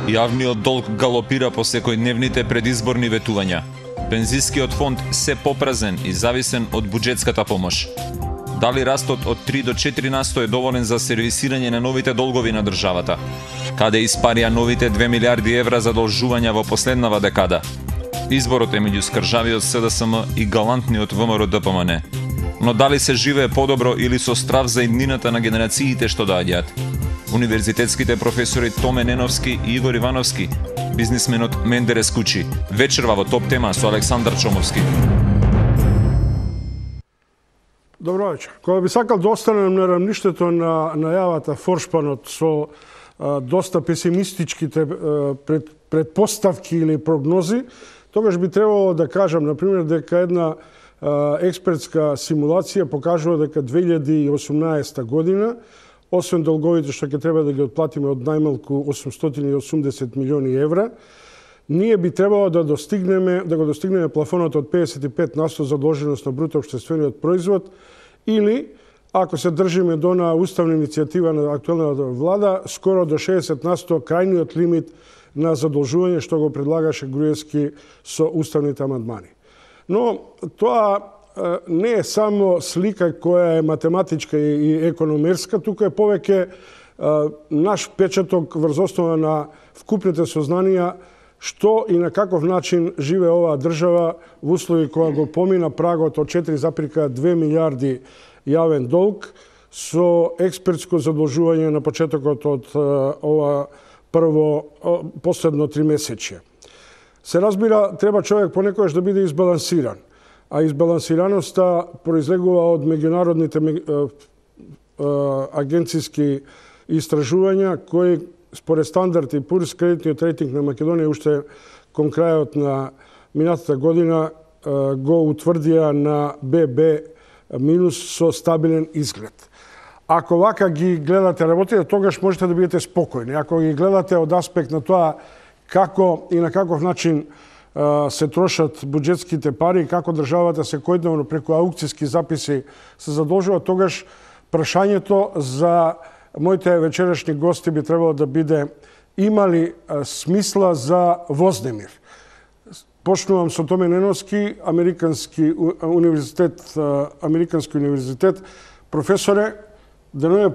Јавниот долг галопира по секојдневните предизборни ветувања. Пензискиот фонд се попразен и зависен од буџетската помош. Дали растот од 3 до 4% е доволен за сервисирање на новите долгови на државата? Каде испарија новите 2 милиарди евра задолжувања во последнава декада? Изборот е меѓу скржавиот СДСМ и галантниот ВМРО-ДПМН. Но дали се живее подобро или со страв за иднината на генерациите што доаѓаат? Универзитетските професори Томе Неновски и Игор Ивановски, бизнисменот Мендерес Кучи. Вечерва во Топ тема со Александар Чомовски. Добро вечер. Кога би сакал да останем на рамништето на најавата Форшпанот со доста песимистичките предпоставки или прогнози, тогаш би требало да кажам, например, дека една експертска симулација покажува дека 2018 година, освен долговите што ќе треба да ги отплатиме од најмалку 880 милиони евра, ние би требало да го достигнеме плафонот од 55% задолженост на бруто општествениот производ, или, ако се држиме до на уставна иницијатива на актуелната влада, скоро до 60% крајниот лимит на задолжување што го предлагаше Груевски со уставните амандмани. Но тоа не е само слика која е математичка и економерска, тука е повеќе наш печаток врз основа на вкупните сознанија што и на каков начин живее оваа држава во услови кога го помина прагот од 4,2 милиарди јавен долг со експертско задолжување на почетокот од ова последно 3 месече. Се разбира, треба човек понекогаш да биде избалансиран, а избалансираноста произлегува од меѓународните агенциски истражувања кои според Стандард и Пурс, кредитниот рейтинг на Македонија уште кон крајот на минатата година го утврдија на ББ минус со стабилен изглед. Ако вака ги гледате работите, тогаш можете да бидете спокојни. Ако ги гледате од аспект на тоа како и на каков начин се трошат буџетските пари, како државата секојдневно преку аукцијски записи се задолжува, тогаш прашањето за моите вечерашни гости би требало да биде има ли смисла за вознемир. Почнувам со Томе Неновски, Американски универзитет. Професоре, денеска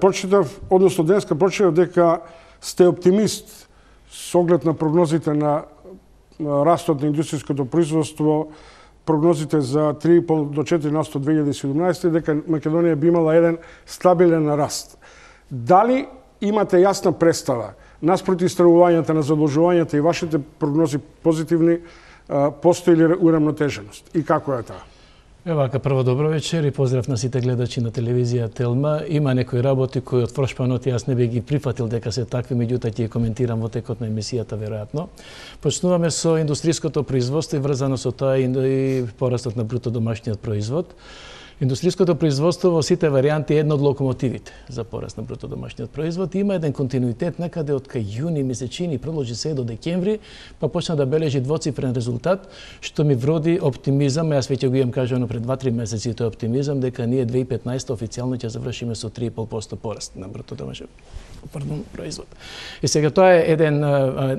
прочитав дека сте оптимист со оглед на прогнозите на растот на индустријското производство, прогнозите за 3,5 до 4% 2017, дека Македонија би имала еден стабилен раст. Дали имате јасна представа, наспроти истражувањата на задолжувањата и вашите прогнози позитивни, постои ли урамнотеженост и како е таа? Вака, прво добро вечер и поздрав на сите гледачи на телевизија Телма. Има некои работи кои од Форшпанот јас не би ги прифатил дека се такви, меѓутоа ќе коментирам во текот на емисијата веројатно. Почнуваме со индустријското производство и врзано со тоа и порастот на бруто домашниот производ. Индустријското производство во сите варијанти е една од локомотивите за пораст на бруто домашниот производ. Има еден континуитет некаде од кај јуни месечини, продолжи се до декември, па почна да бележи двоцифрен резултат, што ми вроди оптимизам. Јас веќе го имам кажано пред 2-3 месеци тој оптимизам дека ние 2015 официјално ќе завршиме со 3,5% пораст на бруто домашен производ. И сега тоа е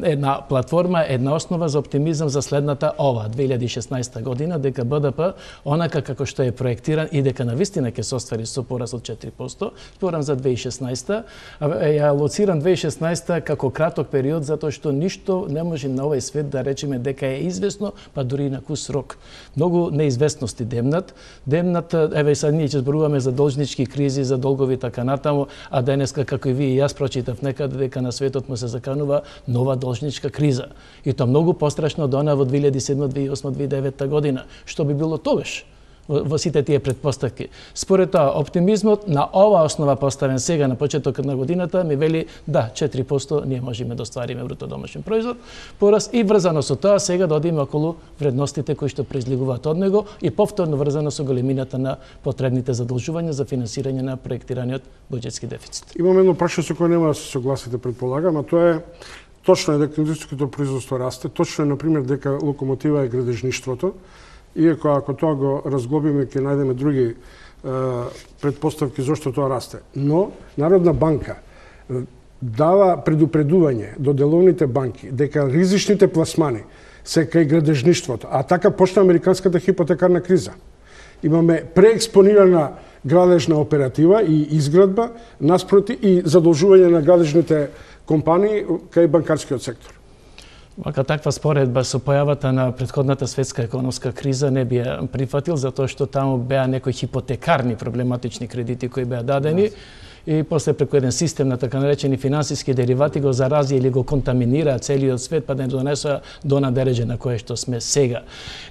една платформа, една основа за оптимизам за следната 2016 година, дека БДП, онака како што е проектиран и дека навистина ќе се оствари со пораст од 4%, зборам за 2016, ја лоцирам 2016 како краток период, затоа што ништо не може на овој свет да речеме дека е известно, па дури на кус рок. Многу неизвестности демнат, еве сега ние ќе зборуваме за должнички кризи, за долгови така натаму, а денеска како и вие и јас прочитав некаде дека на светот му се заканува нова должничка криза. И тоа многу пострашно од она во 2007, 2008, 2009 година. Што би било тогаш во сите тие предпоставки? Според тоа, оптимизмот на ова основа поставен сега на почетокот на годината ми вели да, 4% ние можеме да оствариме бруто домашен производ, пораст и врзано со тоа сега да одиме околу вредностите кои што произлегуваат од него и повторно врзано со големината на потребните задолжувања за финансирање на проектираниот буџетски дефицит. Имам едно прашање со кое нема да се согласите, предполагам, а тоа е точно е дека индустријското производство расте, точно е например дека локомотива е градежништвото. Иако ако тоа го разглобиме, ќе најдеме други предпоставки зашто тоа расте. Но Народна банка дава предупредување до деловните банки дека ризичните пласмани се кај градежништвото, а така почна американската хипотекарна криза. Имаме преекспонирана градежна оператива и изградба наспроти и задолжување на градежните компании кај банкарскиот сектор. Вака таква споредба со појавата на претходната светска економска криза не би ја прифатил, затоа што таму беа некои хипотекарни проблематични кредити кои беа дадени и после преку еден систем на така наречени финансиски деривати го зарази или го контаминира целиот свет, па да не донесува до надележе на кое што сме сега.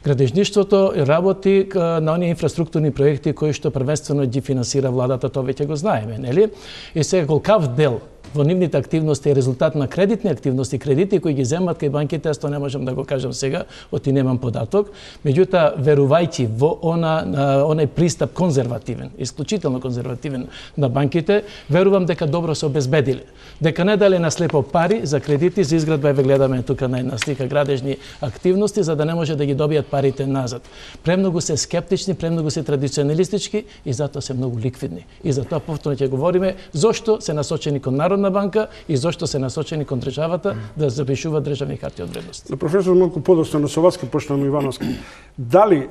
Градежништвото работи на оние инфраструктурни проекти кои што првенствено ги финансира владата, тоа веќе го знаеме, нели? И сега колкав дел во нивните активности е резултат на кредитни активности, кредити кои ги земат кај банките, аз тоа не можам да го кажам сега, оти немам податок. Меѓутоа, верувајќи во онај пристап конзервативен, исклучително конзервативен на банките, верувам дека добро се обезбедиле. Дека не дале на слепо пари за кредити, за изградба, еве гледаме тука на една слика градежни активности, за да не може да ги добијат парите назад. Премногу се скептични, премногу се традиционалистички и затоа се многу ликвидни. И затоа повторно ќе говориме зошто се насочени кон Народна банка и зошто се насочени кон државата да запишуваат државни харти од вредност. Професор, малку подоцна со вас, почнам Ивановски. Дали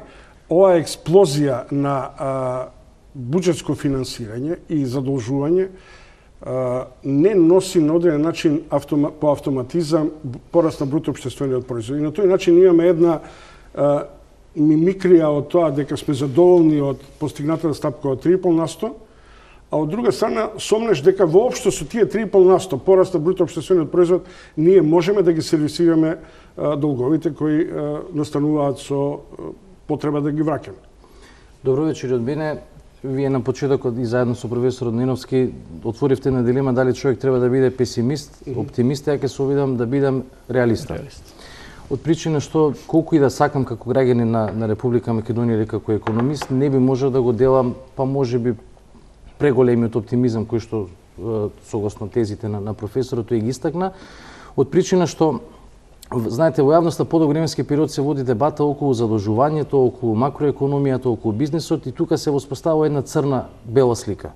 оваа експлозија на буџетско финансирање и задолжување не носи на одреден начин по автоматизам пораст на бруто општествениот производ. И на тој начин имаме една мимикрија од тоа дека сме задоволни од постигнатата стапка од 3,5%, а од друга страна сомнеш дека воопшто со тие 3,5% пораст на бруто општествениот производ ние можеме да ги сервисираме долговите кои настануваат со потреба да ги враќаме. Добро вечер од мене. Вие на почетокот и заедно со професорот Ниновски отворивте на дилема дали човек треба да биде песимист, оптимист, ја ќе се обидам да бидам реалиста. Од причина што колку и да сакам како граѓанин на Република Македонија или како економист, не би можел да го делам, па можеби преголемиот оптимизам кој што согласно тезите на професорот и ги истакна, од причина што знаете, во јавноста подолг временски период се води дебата околу задолжувањето, околу макроекономијата, околу бизнисот и тука се воспоставува една црна-бела слика.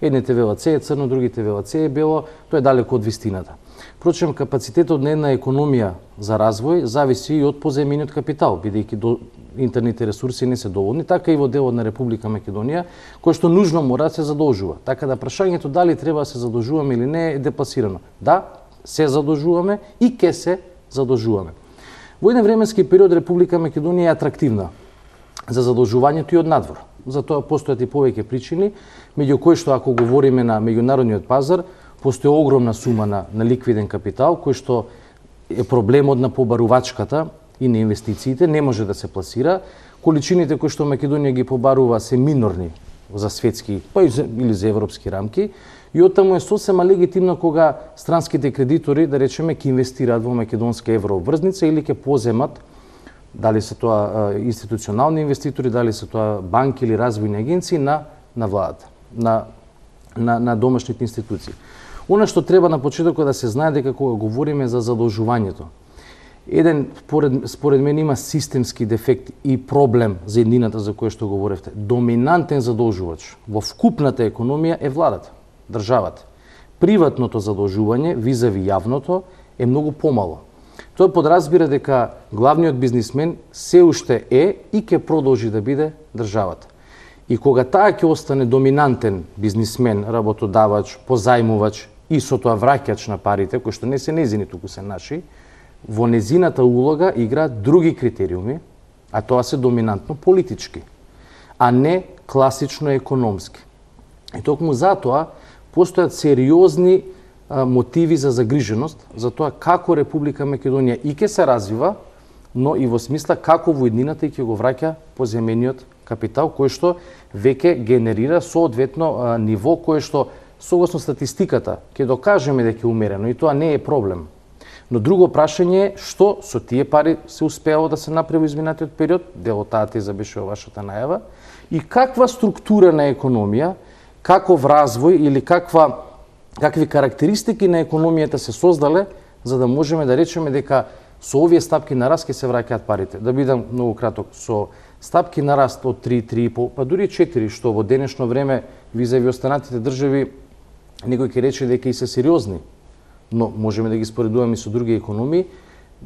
Едните велат се е црно, другите велат се е бело, тоа е далеко од вистината. Впрочем, капацитетот на една економија за развој зависи и од позајмениот капитал, бидејќи интерните ресурси не се доволни, така и во делот на Република Македонија, кој што нужно мора да се задолжува. Така да прашањето дали треба да се задолжуваме или не е депласирано. Да, се задолжуваме и ке се задолжуваме. Во еден временски период Република Македонија е атрактивна за задолжувањето и од надвор. За тоа постојат и повеќе причини, меѓу кои што ако говориме на меѓународниот пазар, постои огромна сума на ликвиден капитал, кој што е проблемот на побарувачката и на инвестициите, не може да се пласира. Количините кои што Македонија ги побарува се минорни за светски, па или за европски рамки, и оттаму е сосема легитимно кога странските кредитори, да речеме, ќе инвестираат во македонска еврообврзница или ќе поземат, дали се тоа институционални инвеститори, дали се тоа банки или развојни агенции на владата, на домашните институции. Она што треба на почетокот да се знае дека кога говориме за задолжувањето, еден според мен има системски дефект и проблем за еднината за која што говоревте. Доминантен задолжувач во вкупната економија е владата, државата. Приватното задолжување визави јавното е многу помало. Тоа подразбира дека главниот бизнисмен се уште е и ќе продолжи да биде државата. И кога таа ќе остане доминантен бизнисмен, работодавач, позајмувач и со тоа враќач на парите, кои што не се незини, туку се наши, во незината улога играат други критериуми, а тоа се доминантно политички, а не класично економски. И токму затоа постојат сериозни мотиви за загриженост за тоа како Република Македонија и ќе се развива, но и во смисла како во еднината и ќе го враќа поземениот капитал, кој што веќе генерира соодветно ниво кој што согласно статистиката ќе докажеме дека е умерено и тоа не е проблем. Но друго прашање е што со тие пари се успеало да се направи во изминатиот период, дел од таа теза беше во вашата најава, и каква структура на економија, каков развој или какви карактеристики на економијата се создале за да можеме да речеме дека со овие стапки на раст ќе се враќаат парите. Да бидам многу краток, со стапки на раст од 3, 3,5, па дури 4, што во денешно време визави останатите држави некој ќе рече дека и се сериозни но можеме да ги споредуваме со други економии,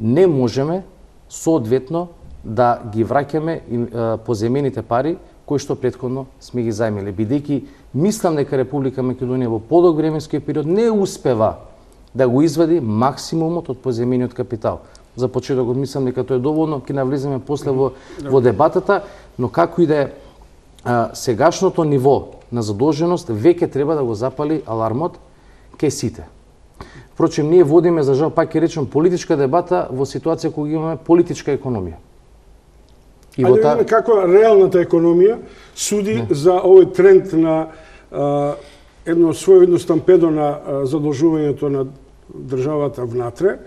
не можеме соодветно да ги враќаме позајмените пари кои што претходно сме ги зајмиле, бидејќи мислам дека Република Македонија во подолг временски период не успева да го извади максимумот од позајмениот капитал. За почетокот мислам дека тоа е доволно, ќе навлеземе после во дебатата, но како и да е, сегашното ниво на задолженост веќе треба да го запали алармот кај сите. Впрочем, ние водиме, за жал, пак ќе речем, политичка дебата во ситуација кога имаме политичка економија. Ајде видиме како реалната економија суди за овој тренд на едно своевидно стампедо на задолжувањето на државата внатре.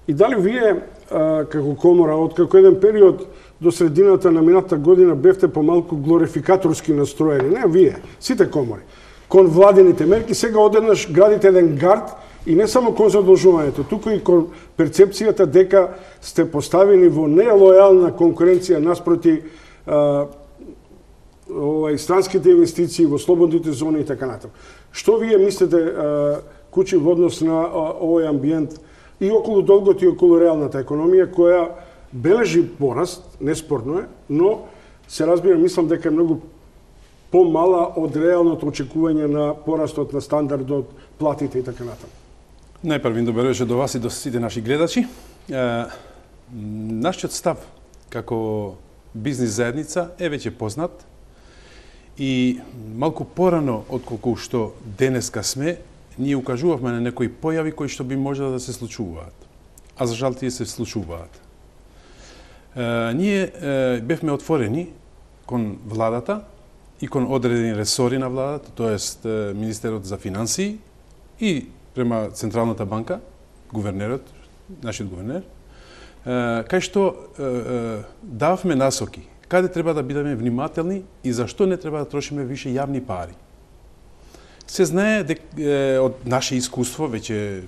И дали вие, како комора, откако еден период до средината на минатата година бевте помалку глорификаторски настроени, не вие, сите комори, кон владините мерки, сега одеднаш градите еден гард и не само кон задолжувањето, туку и кон перцепцијата дека сте поставени во нелојална конкуренција наспроти странските инвестиции во слободните зони и така натаму. Што вие мислите, Кучи, во однос на овој амбиент и околу долгот и околу реалната економија, која бележи пораст, неспорно е, но се разбира, мислам дека е многу помала од реалното очекување на порастот на стандардот, платите и така натаму. Најпрво добро вечер до вас и до сите наши гледачи. Нашиот став како бизнис заедница е веќе познат и малку порано отколку што денеска сме, ние укажувавме на некои појави кои што би можело да се случуваат. А за жал тие се случуваат. Ние бевме отворени кон владата и кон одредени ресори на владата, тоест Министерот за финансии и према Централната банка, гувернерот, нашиот гувернер, кај што дававме насоки, каде треба да бидеме внимателни и зашто не треба да трошиме више јавни пари. Се знае од наше искуство, веќе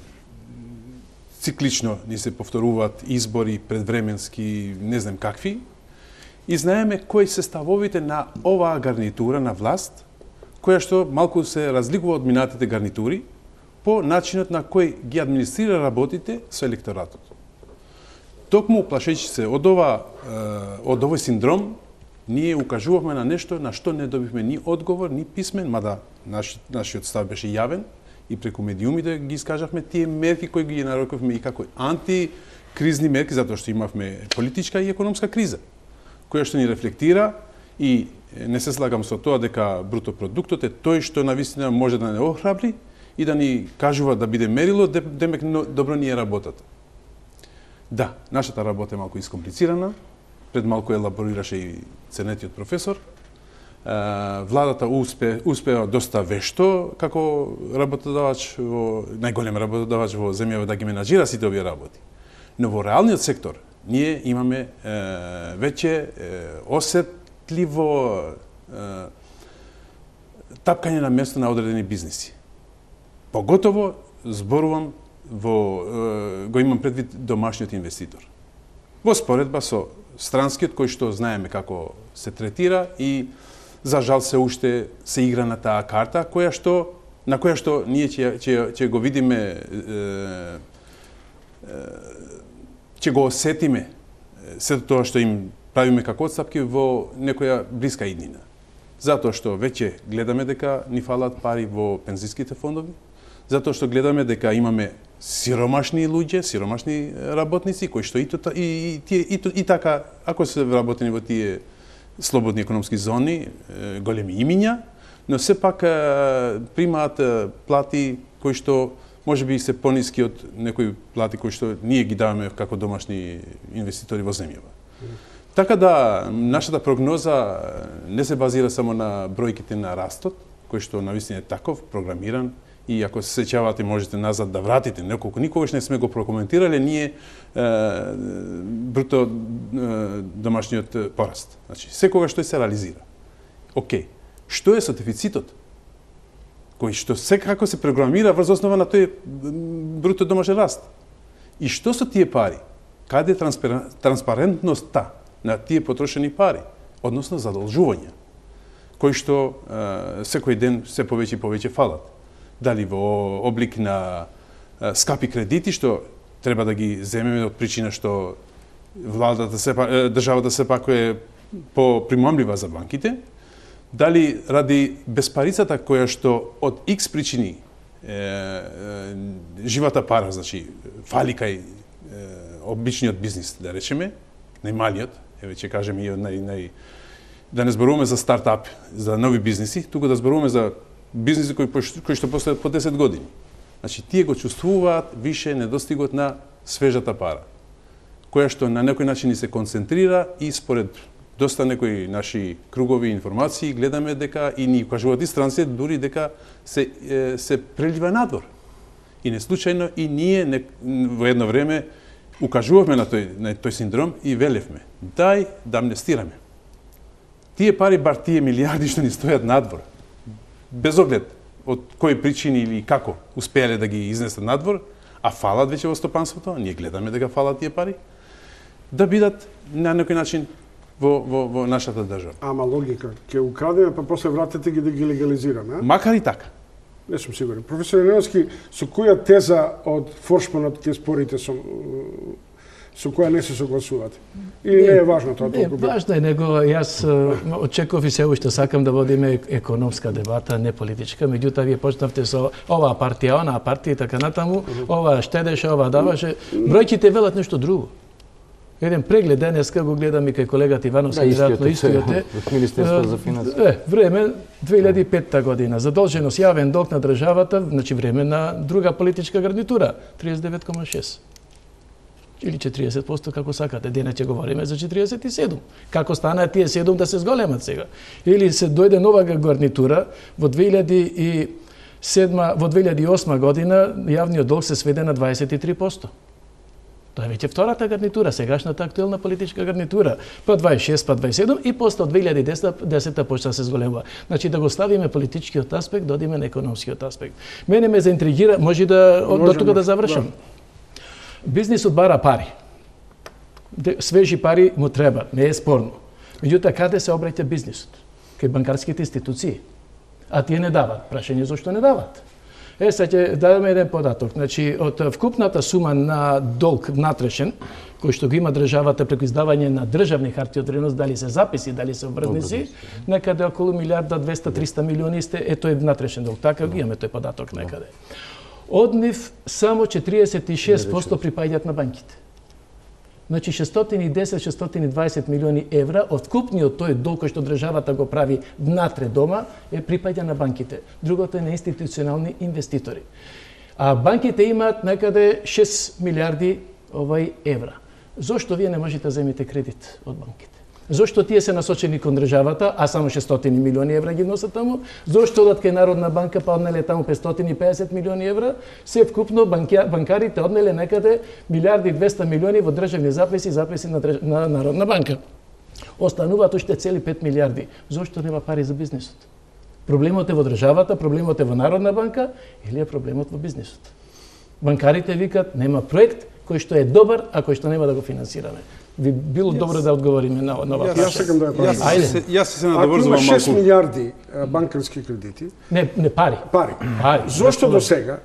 циклично ни се повторуваат избори, предвременски, не знам какви, и знаеме кои се ставовите на оваа гарнитура на власт, која што малку се разликува од минатите гарнитури, по начинот на кој ги администрира работите со електоратот. Токму плашејќи се од овој синдром, ние укажувавме на нешто на што не добивме ни одговор, ни писмен, мада нашиот став беше јавен и преку медиумите ги искажавме тие мерки кои ги нарекувавме и како антикризни мерки, затоа што имавме политичка и економска криза, која што ни рефлектира и не се слагам со тоа дека бруто продуктот е тој што навистина може да не охрабри и да ни кажува да биде мерило, демек добро ни е работата. Да, нашата работа е малку искомплицирана, пред малку елаборираше и ценетиот професор. Владата успеа доста вешто како работодавач, најголем работодавач во земјава да ги менаџира сите овие работи. Но во реалниот сектор ние имаме веќе осетливо тапкање на место на одредени бизниси. Поготово зборувам го имам предвид домашниот инвеститор. Во споредба со странскиот кој што знаеме како се третира и за жал се уште се игра на таа карта на која што ние ќе го видиме, ќе го осетиме сето тоа што им правиме како отстапки во некоја блиска иднина. Затоа што веќе гледаме дека ни фалат пари во пензиските фондови, затоа што гледаме дека имаме сиромашни луѓе, сиромашни работници кои што и така, ако се работени во тие слободни економски зони, големи имиња, но сепак примаат плати кои што можеби се пониски од некои плати кои што ние ги даваме како домашни инвеститори во земјава. Така да, нашата прогноза не се базира само на бројките на растот, кој што навистина е таков, програмиран, и ако се сеќавате можете назад да вратите, неколку никогаш не сме го прокоментирале ние бруто домашниот пораст. Значи, секогаш тој се реализира. Океј, што е со дефицитот? Кој што секако се програмира врз основа на тој бруто домашен раст. И што со тие пари? Каде е транспарентноста на тие потрошени пари, односно задолжувања, кои што секој ден се повеќе и повеќе фалат. Дали во облик на скапи кредити што треба да ги земеме од причина што владата државата сепак е попримамлива за банките, дали ради безпарицата која што од X причини живата пара, значи фали кај обичниот бизнис, да речеме, најмалиот, ќе кажеме и да не зборуваме за стартап, за нови бизниси, туку да зборуваме за бизниси кои што постојат по 10 години. Значи, тие го чувствуваат више недостигот на свежата пара, која што на некој начин ни се концентрира и според доста некои наши кругови информации гледаме дека и ни кажуваат и странците дури дека се прелива надвор. И не случајно и ние во едно време укажувавме на тој синдром и велевме: дај да амнестираме. Тие пари, бар тие милиарди што ни стојат надвор, без оглед од кои причини или како успеале да ги изнесат надвор, а фалат веќе во стопанството, ние гледаме дека фалат тие пари, да бидат на некој начин во нашата држава. Ама логика, ќе украдеме па после вратите ги да ги легализираме, а? Макар и така. Не сум сигурен. Професор Неновски, со која теза од Форшпанот ќе спорите со која не се согласувате? Или не е важно тоа толку? Не, важно е, него јас очекував и се уште сакам да водиме економска дебата, не политичка, меѓутоа вие почнавте со оваа партија, онаа партија и така натаму, ова штедеше, ова даваше. Бројките велат нешто друго. Еден преглед денеска го гледам и кај колегата Ивановски, веројатно истиот е. Министерството за финансии. Време 2005 година. Задолженост јавен долг на државата, значи време на друга политичка гарнитура, 39,6. Или 40%, како сакате. Денес ќе говориме за 47. Како стана тие 7 да се зголемат сега? Или се дојде нова гарнитура во 2008 година јавниот долг се сведе на 23%. Тоа е веќе втората гарнитура, сегашната актуелна политичка гарнитура. Па 26, па 27 и после од 2010 почна да се зголемува. Значи да го ставиме политичкиот аспект, да одиме на економскиот аспект. Мене ме заинтригира, може да до тука да завршам. Бизнисот бара пари. Свежи пари му треба, не е спорно. Меѓутоа, каде се обраќа бизнисот? Кај банкарските институции. А тие не дават. Прашање зошто не дават? Сега ќе дадеме еден податок. Значи, од вкупната сума на долг внатрешен, кој што го има државата преку издавање на државни харти од вредност, дали се записи, дали се обртници, некаде околу 1.200-300 милиони е тој внатрешен долг. Така го имаме тој податок некаде. Од нив само 46% припаѓаат на банките. Значи 610-620 милиони евра од вкупниот тој долг кој што државата го прави внатре дома припаѓа на банките. Другото е на институционални инвеститори. А банките имаат некаде 6 милиарди евра. Зошто вие не можете да земите кредит од банките? Зошто тие се насочени кон државата, а само 600 милиони евра ги носат таму? Зошто одат кај Народна банка, па однеле таму 550 милиони евра? Се вкупно банкарите однеле некаде 1.200 милиони во државни записи на Народна банка. Остануваат уште цели 5 милиарди. Зошто нема пари за бизнисот? Проблемот е во државата, проблемот е во Народна банка или е проблемот во бизнисот? Банкарите викат нема проект кој што е добар, а кој што нема да го финансираме. Би било добро да одговориме на ова прашање. Јас сакам да ја прашам. Јас се надоврзувам малку. Ако има 6 милиарди банкарски кредити, не пари. Зошто до сега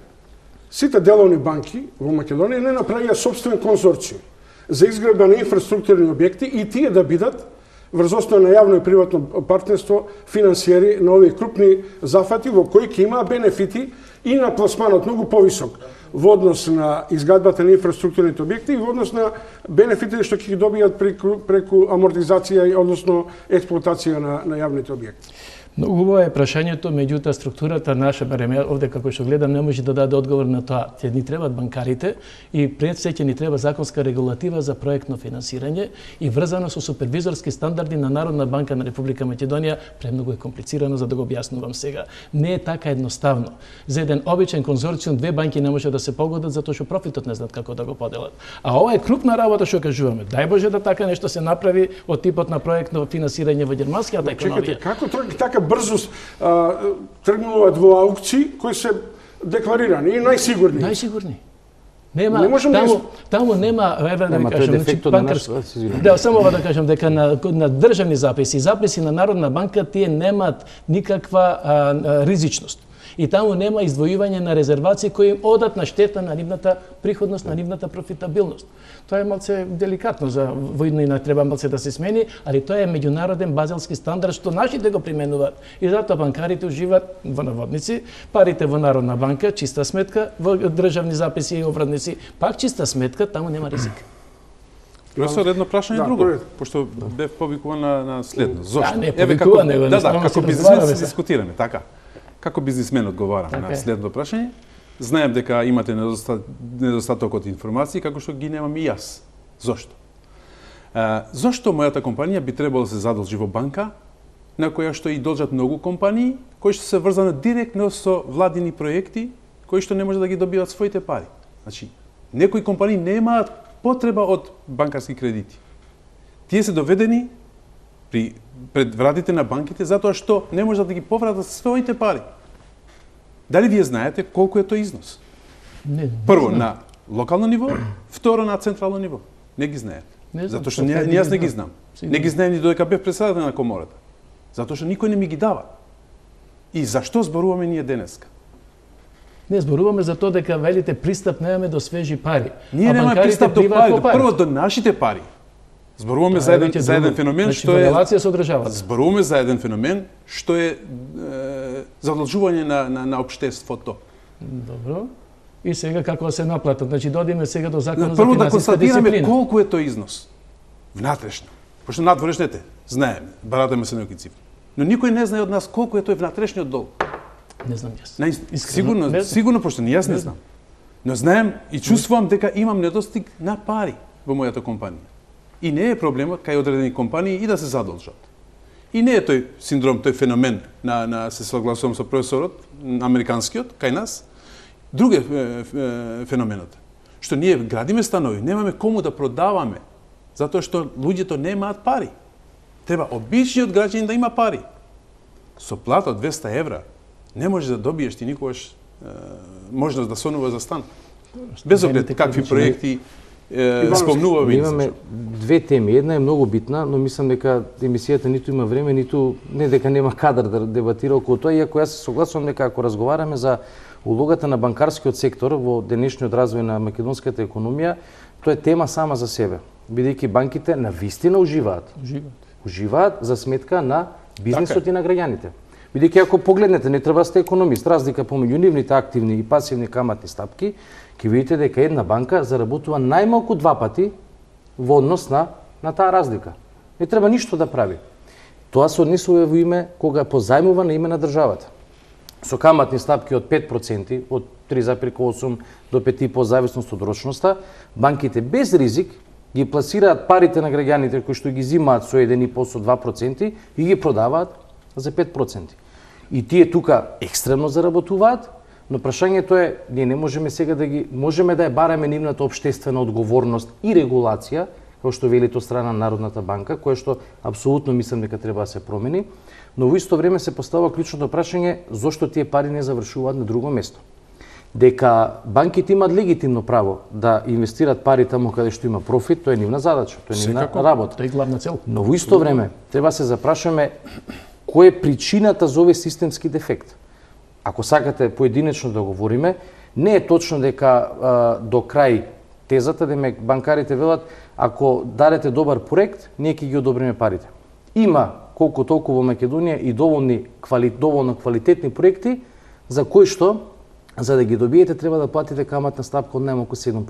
сите деловни банки во Македонија не направија сопствен конзорциум за изградба на инфраструктурни објекти и тие да бидат врз основа на јавно и приватно партнерство финансиери на овие крупни зафати во кои ќе имаа бенефити и на пласманот многу повисок во однос на изградбата на инфраструктурните објекти и во однос на бенефитите што ќе ги добијат преку амортизација, односно експлоатација на јавните објекти. Многу убаво е прашањето, меѓутоа структурата наша, барем овде како што гледам, не може да даде одговор на тоа. Ќе ни требаат банкарите и пред се ќе ни треба законска регулатива за проектно финансирање и врзано со супервизорски стандарди на Народна банка на Република Македонија. Премногу е комплицирано за да го објаснувам сега. Не е така едноставно. За еден обичен конзорциум две банки не може да се погодат затоа што профитот не знаат како да го поделат. А ова е крупна работа што кажуваме. Дај Боже да така нешто се направи од типот на проектно финансирање во германската економија. Чекате, како така брзо тргнуваат во аукции кои се декларирани и најсигурни. Најсигурни. Нема, таму нема, да ви кажам, само ова да кажам, дека на државни записи на Народна банка тие немаат никаква ризичност. И таму нема издвојување на резервации кои им одат на штета на нивната приходност, на нивната профитабилност. Тоа е малце деликатно за војнина, треба малце да се смени, али тоа е меѓународен базелски стандард што нашите го применуваат. И затоа банкарите уживаат во наводници, парите во Народна банка, чиста сметка, во државни записи и обрадници, пак чиста сметка, таму нема ризик. Професор, едно прашање друго, пошто бев повикуван на следно. Зошто? Не, повикуван него, како бизнисмен се дискутираме, така. Како бизнисмен одговарам на следно прашање. Знаем дека имате недостаток од информации, како што ги немам и јас. Зошто? Зошто мојата компанија би требало да се задолжи во банка, на која што и должат многу компании, кои што се врзани директно со владини проекти, кои што не може да ги добиваат своите пари. Значи, некои компании немаат потреба од банкарски кредити. Тие се доведени пред вратите на банките затоа што не можат да ги повратат своите пари. Дали вие знаете колку е тој износ? Не Прво знам. на локално ниво, второ на централно ниво. Не ги знаете. Не знам, Затоа што така јас не ги знам. Сигурно. Не ги знаем ни додека бев председател на комората. Затоа што никој не ми ги дава. И зашто зборуваме ние денеска? Не зборуваме за тоа дека велите пристап немаме до свежи пари. Ние А немаме банкарите пристап до пливаат пари, по прво до нашите пари. Зборуваме за еден феномен значи, што е релација со државата. Зборуваме за еден феномен што е задолжување на општеството. Добро. И сега како се наплатат? Значи додиме сега до законот за Прво да финансиска констатираме дисциплина. колку е тој износ. Внатрешно. Пошто надворешните знаеме, баратаме се некои цифри. Но никој не знае од нас колку е тој внатрешниот долг. Не знам јас. Сигурно, не знам. сигурно пошто ни јас не знам. Но знаем и чувствувам дека имам недостиг на пари во мојата компанија. И не е проблемот кај одредени компании и да се задолжат. И не е тој синдром, тој феномен на се согласувам со професорот, американскиот, кај нас. Друг е феноменот. Што ние градиме станови, немаме кому да продаваме, затоа што луѓето немаат пари. Треба обичниот граѓанин да има пари. Со плата од 200 евра не можеш да добиеш ти никогаш можност да сонува за стан. Без оглед какви проекти спомнуваме. Имаме две теми. Една е многу битна, но мислам дека емисијата ниту има време, ниту не дека нема кадар да дебатира околу тоа, иако јас се согласувам дека ако разговараме за улогата на банкарскиот сектор во денешниот развој на македонската економија, тоа е тема сама за себе. Бидејќи банките навистина уживаат за сметка на бизнисот и на граѓаните. Бидејќи ако погледнете, не треба да сте економист, разлика помеѓу нивните активни и пасивни каматни стапки, ќе видите дека една банка заработува најмалку 2 пати во однос на таа разлика. Не треба ништо да прави. Тоа се однесува во име кога позајмува на име на државата. Со каматни стапки од 5%, од 3,8 до 5,5 зависност од рочноста, банките без ризик ги пласираат парите на граѓаните кои што ги зимаат со 1,5 со 2% и ги продаваат за 5%. И тие тука екстремно заработуваат, но прашањето е, ние не можеме сега можеме да ја бараме нивната општествена одговорност и регулација, како што велите од страна на Народната банка, кое што апсолутно мислам дека треба да се промени, но во исто време се поставува клучното прашање зошто тие пари не завршуваат на друго место. Дека банките имаат легитимно право да инвестираат пари таму каде што има профит, тоа е нивна задача, тоа е нивна работа. Тоа е главна цел. Но во исто време треба се запрашаме која е причината за овој системски дефект. Ако сакате поединечно да говориме, не е точно дека до крај тезата, демек банкарите велат, ако дадете добар проект, ние ќе ги одобриме парите. Има колку толку во Македонија и доволно квалитетни проекти за кои што за да ги добиете треба да платите каматна стапка од најмалку 7%.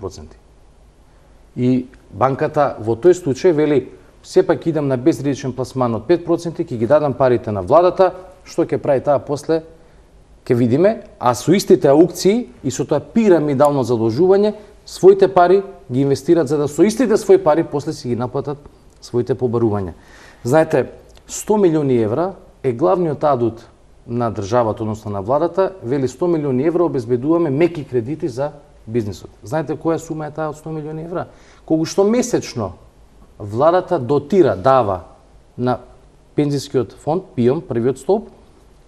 И банката во тој случај вели сепак идам на безризичен пласман од 5%, ќе ги дадам парите на владата, што ќе прави таа после ќе видиме, а со истите аукции и со тоа пирамидално задолжување, своите пари ги инвестираат за да со истите своји пари после си ги наплатат своите побарувања. Знаете, 100 милиони евра е главниот адут на државата, односно на владата, вели 100 милиони евра обезбедуваме меки кредити за бизнисот. Знаете која сума е таа од 100 милиони евра? Колку што месечно владата дотира, дава на пензискиот фонд, ПИОМ, првиот столб,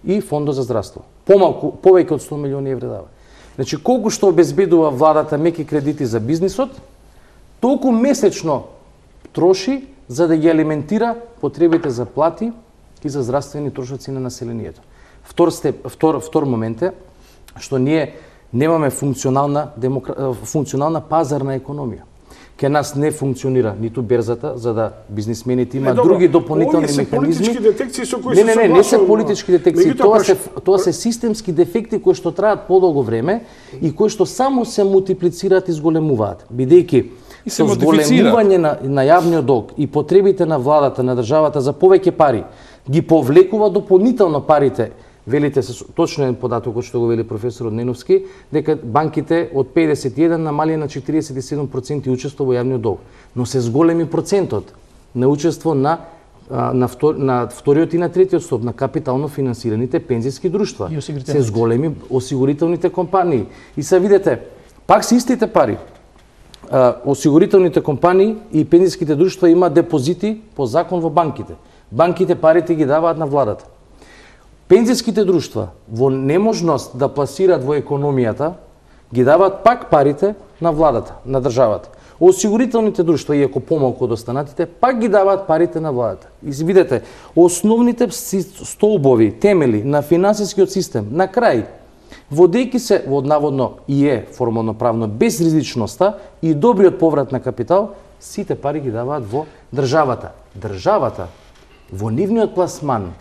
и фондот за здравство. Повеќе од 100 милиони евра дава. Значи, колку што обезбедува владата меки кредити за бизнисот, толку месечно троши за да ги алиментира потребите за плати и за здравствени трошоци на населението. Втор момент е што ние немаме функционална пазарна економија. Ке нас не функционира ниту берзата, за да бизнисмените имаат други дополнителни механизми. Политички детекции со кои се согласувам. Не се политички детекции, тоа се системски дефекти кои што траат подолго време и кои што само се мултиплицираат и зголемуваат, бидејќи со зголемување на јавниот долг и потребите на владата, на државата за повеќе пари, ги повлекува дополнително парите. Велите се точно податокот што го вели професорот Неновски, дека банките од 51 намали на 47% учество во јавниот долг, но се зголеми процентот на учество на вториот и на третиот стоп на капитално финансираните пензиски друштва. Се зголеми осигурителните компании. И се видите, пак се истите пари. Осигурителните компании и пензиските друштва имаат депозити по закон во банките. Банките парите ги даваат на владата. Пензиските друштва во неможност да пласираат во економијата ги даваат пак парите на владата, на државата. Осигурителните друштва, иако помалку од останатите, пак ги даваат парите на владата. И видете, основните столбови, темели на финансискиот систем, на крај, водејќи се во наводно и е формално правно безризичноста и добриот поврат на капитал, сите пари ги даваат во државата. Државата во нивниот пласман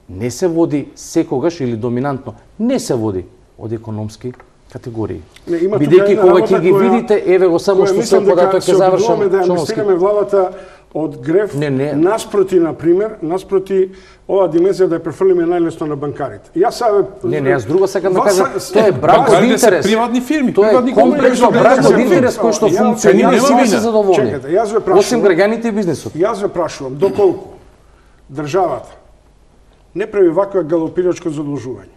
не се води секогаш или доминантно, не се води од економски категории. Бидејќи кога ќе ги видите, еве го само што се податок ќе завршам. Да инвестираме владата од греф наспроти, например, наспроти ова димензија да ја префрлиме најлесно на банкарите. Јас друго сакам да кажам, тоа е брак од интерес. Приватни фирми, приватни комплексно брак од интерес кој што функционира и сите се задоволни. Осим граѓаните и бизнисот. Јас ве прашувам, доколку државата не прави вакво галопирачко задолжување,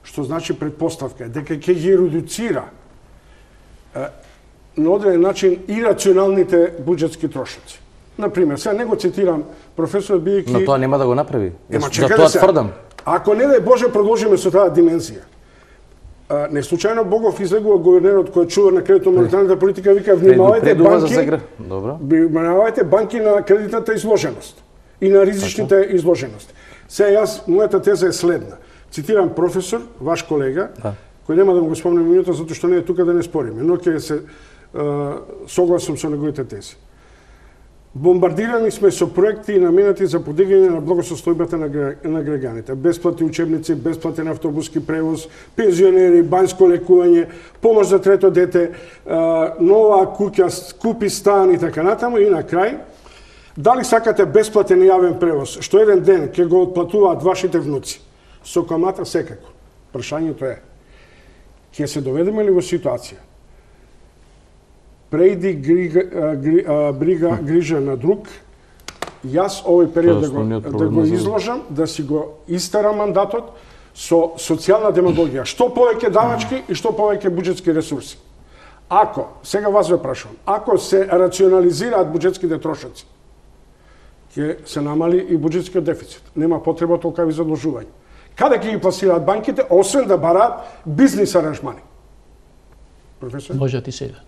што значи предпоставка е дека ќе ги редуцира на одреден начин ирационалните буџетски трошоци. Например, сега не го цитирам професорот бидејќи... Но тоа нема да го направи. За тоа тврдам. Ако не дај Боже продолжиме со таа димензија, не случајно Богов излегува гувернерот кој чува на кредитно-монетарната политика, вика внимавајте банки на кредитната изложеност и на ризичните изложености. Сега мојата теза е следна. Цитирам професор, ваш колега, кој нема да му го спомнем името, затоа што не е тука да не спориме, но ќе се согласам со неговите тези. Бомбардирани сме со проекти наменати за подигање на благосостојбата на граѓаните. Бесплатни учебници, бесплатен автобуски превоз, пензионери, банјско лекување, помош за трето дете, нова куќа, купи стан и така натаму. И на крај, дали сакате бесплатен јавен превоз, што еден ден ќе го отплатуваат вашите внуци? Со камата секако. Прашањето е, ќе се доведеме ли во ситуација прејди грижа на друг, јас овој период да го изложам, да си го истарам мандатот со социјална демагогија, што повеќе давачки и што повеќе буџетски ресурси. Ако, сега вас ве прашувам, ако се рационализираат буџетските трошоци, ќе се намали и буџетскиот дефицит. Нема потреба толкави задолжувања. Каде ќе ги пласираат банките, освен да бараат бизнис аранжмани? Професор? Можат и сега.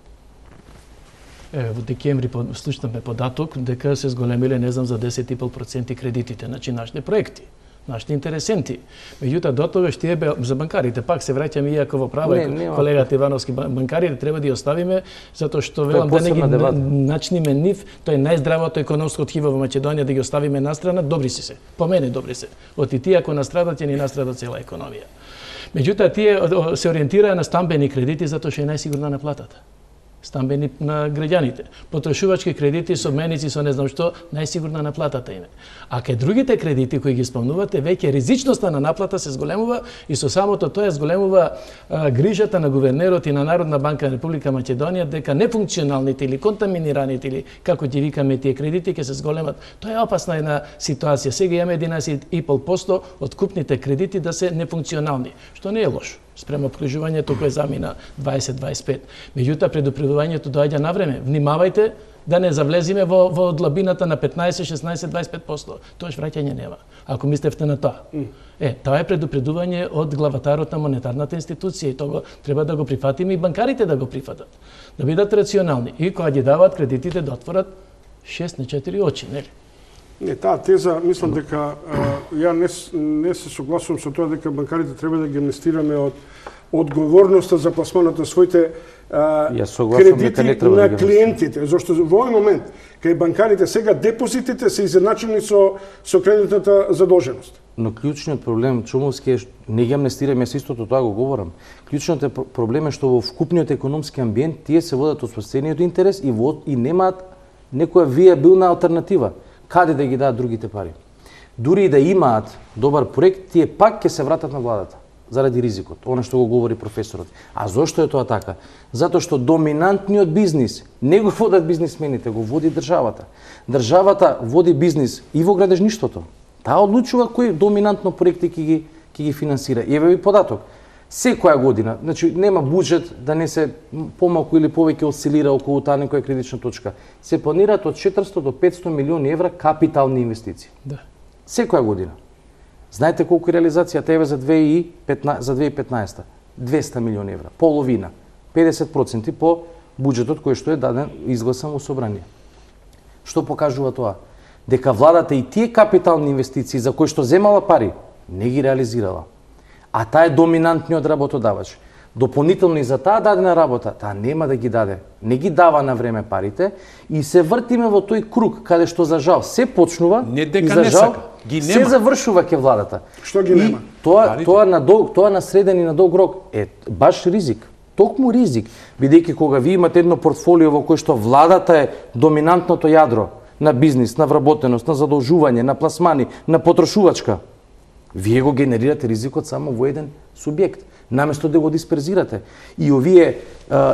Во декември слушнавме податок дека се зголемиле, не знам, за 10,5% кредитите, значи нашите проекти, нашите интересенти. Меѓутоа, до тогаш тие за банкарите, пак се враќаме иако во право, колегата Ивановски, банкарите треба да ја оставиме, затоа што велам да не ги начниме нив, тоа е најздравото економско тхиво во Македонија, да ги оставиме настрана, добри се. По мене добри се. Оти тие ако настрадат, ќе ни настрада цела економија. Меѓутоа, тие се ориентираа на стамбени кредити, затоа што е најсигурна наплатата. Стамбени на граѓаните. Потрошувачки кредити со меници, со не знам што, најсигурна наплатата име. А кај другите кредити кои ги спомнувате, веќе ризичноста на наплата се зголемува и со самото тоа зголемува грижата на гувернерот и на Народна банка на Република Македонија дека нефункционалните или контаминираните или како ги викаме тие кредити ќе се зголемат. Тоа е опасна една ситуација. Сега имаме 11,5% од купните кредити да се нефункционални, што не е лошо спрема обкружувањето кое замина 20-25. Меѓутоа, предупредувањето доаѓа на време. Внимавајте да не завлезиме во длабината на 15, 16, 25%. Тоаш враќање нема, ако мислевте на тоа. Тоа е предупредување од главатарот на монетарната институција и тоа треба да го прифатиме и банкарите да го прифатат. Да бидат рационални и кога ги даваат кредитите да отворат 6 на 4 очи, нели? Не, таа теза, мислам дека ја не се согласувам со тоа дека банкарите треба да ги амнестираме од одговорноста за пласманот на своите кредити на клиентите, зашто во овој момент кај банкарите сега депозитите се изедначени со кредитната задолженост. Но клучниот проблем, Чумовски, е не ги амнестираме, се истото тоа го говорам. Клучниот проблем е што во вкупниот економски амбиент тие се водат од собствениот интерес и немаат некоја виабилна алтернатива. Каде да ги дадат другите пари? Дури и да имаат добар проект, тие пак ќе се вратат на владата заради ризикот, она што го говори професорот. А зошто е тоа така? Затоа што доминантниот бизнис не го водат бизнисмените, го води државата. Државата води бизнис и во градежништвото. Таа одлучува кои доминантно проекти ќе ги финансира. Еве ви податок. Секоја година, значи нема буџет да не се помалку или повеќе осцилира околу таа некоја критична точка. Се планираат од 400 до 500 милиони евра капитални инвестиции. Да. Секоја година. Знаете колку е реализацијата еве за 2015? 200 милиони евра, половина, 50% по буџетот кој што е даден изгласан во собрание. Што покажува тоа? Дека владата и тие капитални инвестиции за кои што земала пари, не ги реализирала. А таа е доминантниот работодавач. Дополнително и за таа дадена работа, таа нема да ги даде. Не ги дава на време парите и се вртиме во тој круг каде што за жал се почнува не дека и за не жал сака. Ги се нема. завршува ке владата. Што ги нема? Тоа на среден и на долг рок е баш ризик. Токму ризик, бидејќи кога ви имате едно портфолио во кое што владата е доминантното јадро на бизнис, на вработеност, на задолжување, на пласмани, на потрошувачка, вие го генерирате ризикот само во еден субјект, наместо да го дисперзирате. И овие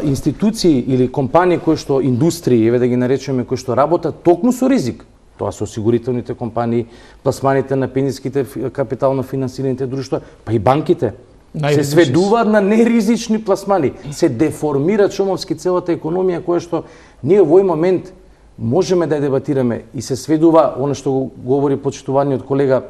институции или компании кои што индустрии, еве да ги наречеме, кои што работат токму со ризик, тоа се осигурителните компании, пласманите на пензиските капитално финансираните друштва, па и банките, се сведуваат на неризични пласмани, се деформира Чумовски целата економија која што ние во овој момент можеме да ја дебатираме и се сведува, она што го говори почитуваниот колега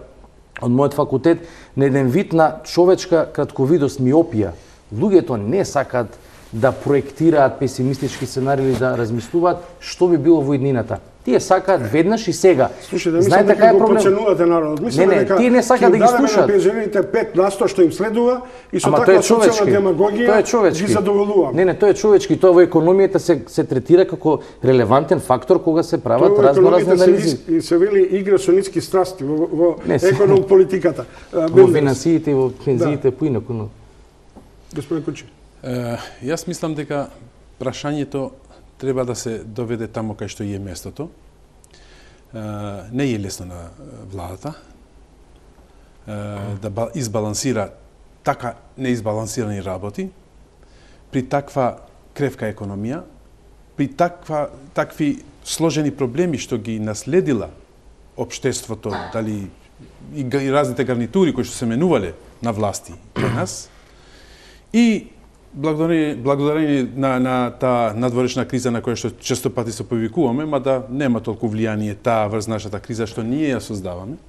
од мојот факултет, на еден вид на човечка кратковидост, миопија. Луѓето не сакаат да проектираат песимистички сценарии или да размислуваат што би било во иднината. Тие сакаат веднаш и сега. Слушајте, мислам дека го подценувате народот. Мислам дека тие не сакаат да ги слушаат. На пензионерите 5% што им следува и со таква социјална демагогија ги задоволуваме. Не, тоа е човечки, тоа во економијата се третира како релевантен фактор кога се прават разноразни анализи. И се вели игра со ниски страсти во економ политиката. Во финансиите и во пензиите поинаку. Господин Кучи. Јас мислам дека прашањето треба да се доведе тамо кај што е местото. Не е лесно на владата да избалансира така неизбалансирани работи при таква кревка економија, при такви сложени проблеми што ги наследила општеството, дали и разните гарнитури кои што се менувале на власти кај нас, и благодарение на таа надворешна криза на која што често пати се повикуваме, мада нема толку влијание таа врз нашата криза што ние ја создаваме,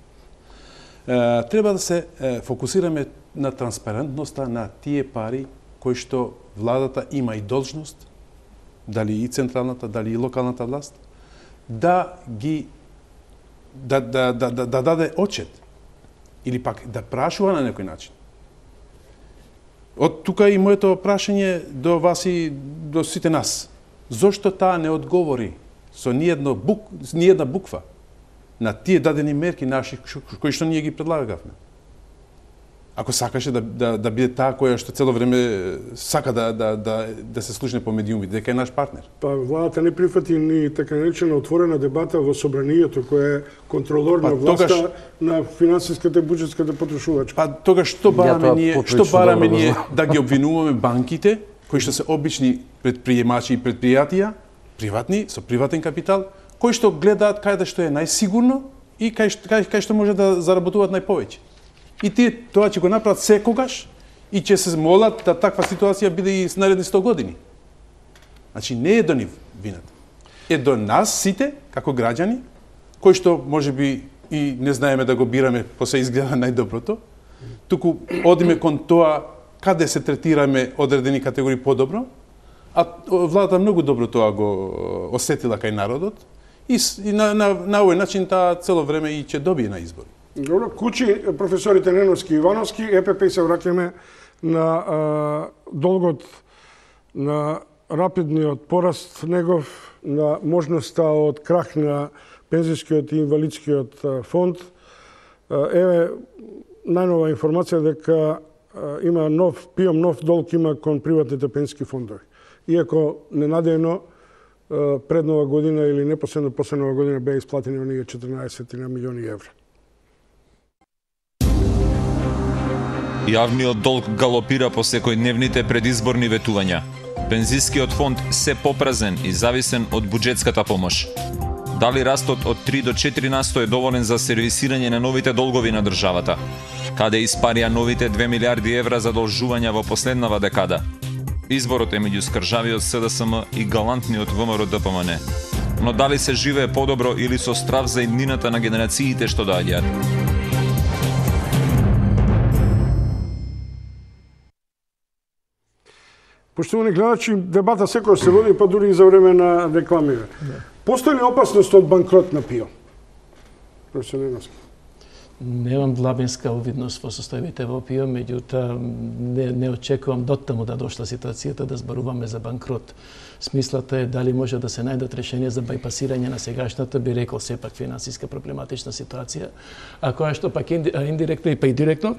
треба да се фокусираме на транспарентноста на тие пари кои што владата има и должност, дали и централната, дали и локалната власт, да даде отчет или пак да прашува на некој начин. Од тука и моето прашање до вас и до сите нас. Зошто таа не одговори со ниедна буква на тие дадени мерки наши кои што ние ги предлагавме? Ако сакаше да биде таа која што цело време сака да се слушне по медиуми, дека е наш партнер. Па владата не прифати ни така наречена отворена дебата во собранието кој е контролор на власта на финансиската и буџетската потрошувачка. Па тогаш што бараме ние да ги обвинуваме банките кои што се обични предприемачи и предпријатија, приватни со приватен капитал, кои што гледаат каде што е најсигурно и кај што може да заработуваат најповеќе. И тие тоа ќе го направат секогаш и ќе се молат да таква ситуација биде и наредни 100 години. Значи не е до нив вината. Е до нас сите како граѓани кои што можеби и не знаеме да го бираме по се изгледа најдоброто, туку одиме кон тоа каде се третираме одредени категории подобро, а владата многу добро тоа го осетила кај народот и на овој начин таа цело време и ќе добие на избори. Добро, кучи професорите Неновски и Ивановски, ЕПП се враќаме на долгот, на рапидниот пораст негов, на можноста од крах на пензискиот и инвалидскиот фонд. Еве најнова информација дека има ПИОМ нов долг има кон приватните пензиски фондови. Иако ненадејно пред нова година или непосредно после нова година беа исплатени оние 14 милиони евра. Јавниот долг галопира по секојдневните предизборни ветувања. Пензискиот фонд се попразен и зависен од буџетската помош. Дали растот од 3 до 4% е доволен за сервисирање на новите долгови на државата? Каде испарија новите 2 милиарди евра задолжувања во последнава декада? Изборот е меѓу скржавиот СДСМ и галантниот ВМРО ДПМН. Но дали се живее подобро или со страв за иднината на генерациите што доаѓаат? Поштовани гледачи, дебата секој се води, па дури и за време на рекламиве. Постои ли опасност од банкрот на ПИО? Професор Неновски. Немам длабинска увидност во состојбите во ПИО, меѓутоа не очекувам доттаму да дошла ситуацијата да зборуваме за банкрот. Смислата е дали може да се најдат решенија за бајпасирање на сегашната, би рекол сепак финансиска проблематична ситуација, а која што пак индиректно и па и директно